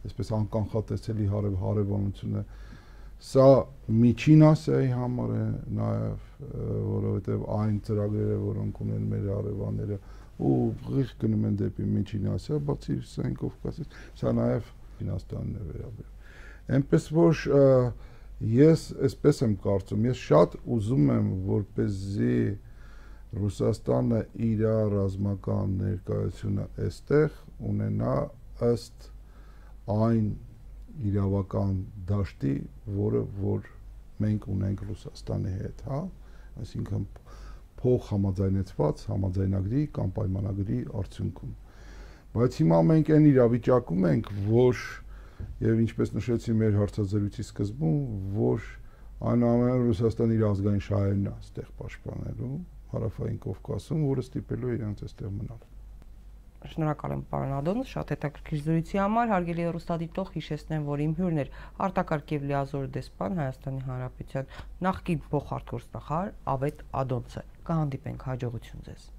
այսպես անկանխատեսելի հարևանությունը, սա Միջին Ասիայի համար է նաև, որովհետև այն ծրագրերը, որոնք ունեն մեր հարևանները, ու ուղիղ գնում են դեպի Միջին Ասիա, բացի Հյուսիսային Կովկասից, սա նաև Չինաստանն է վերաբերում։ Այնպես որ ես այսպես եմ կարծում, ես շատ ուզում եմ, որպեսզի Ռուսաստանը իր ռազմական ներկայությունը այստեղ ունենա ըստ այն իրավական դաշտի, որը որ մենք ունենք Ռուսաստանի հետ, հա, այսինքն փող համաձայնեցված համաձայնագրի կամ պայմանագրի արդյունքում։ Բայց հիմա մենք այն իրավիճակում ենք, որ եւ ինչպես նշեցի մեր հարցազրույցի սկզբում, որ այնուամենայնիվ Ռուսաստանի իր ազգային շահերն է այստեղ պաշտպանելու Հարավային Կովկասում, որը ստիպելու է իրենց այստեղ մնալ։ Շնորհակալ եմ, պարոն Ադոնոս, շատ հետաքրքիր զրույցի համար։ Հարգելի հեռուստադիտող, հիշեցնեմ, որ իմ հյուրն էր արտակարգ եւ լիազոր դեսպան Հայաստանի Հանրապետության նախկին փոխարտգործնախարար Ավետ Ադոնցը։ Կհանդիպենք, հաջողություն ձեզ։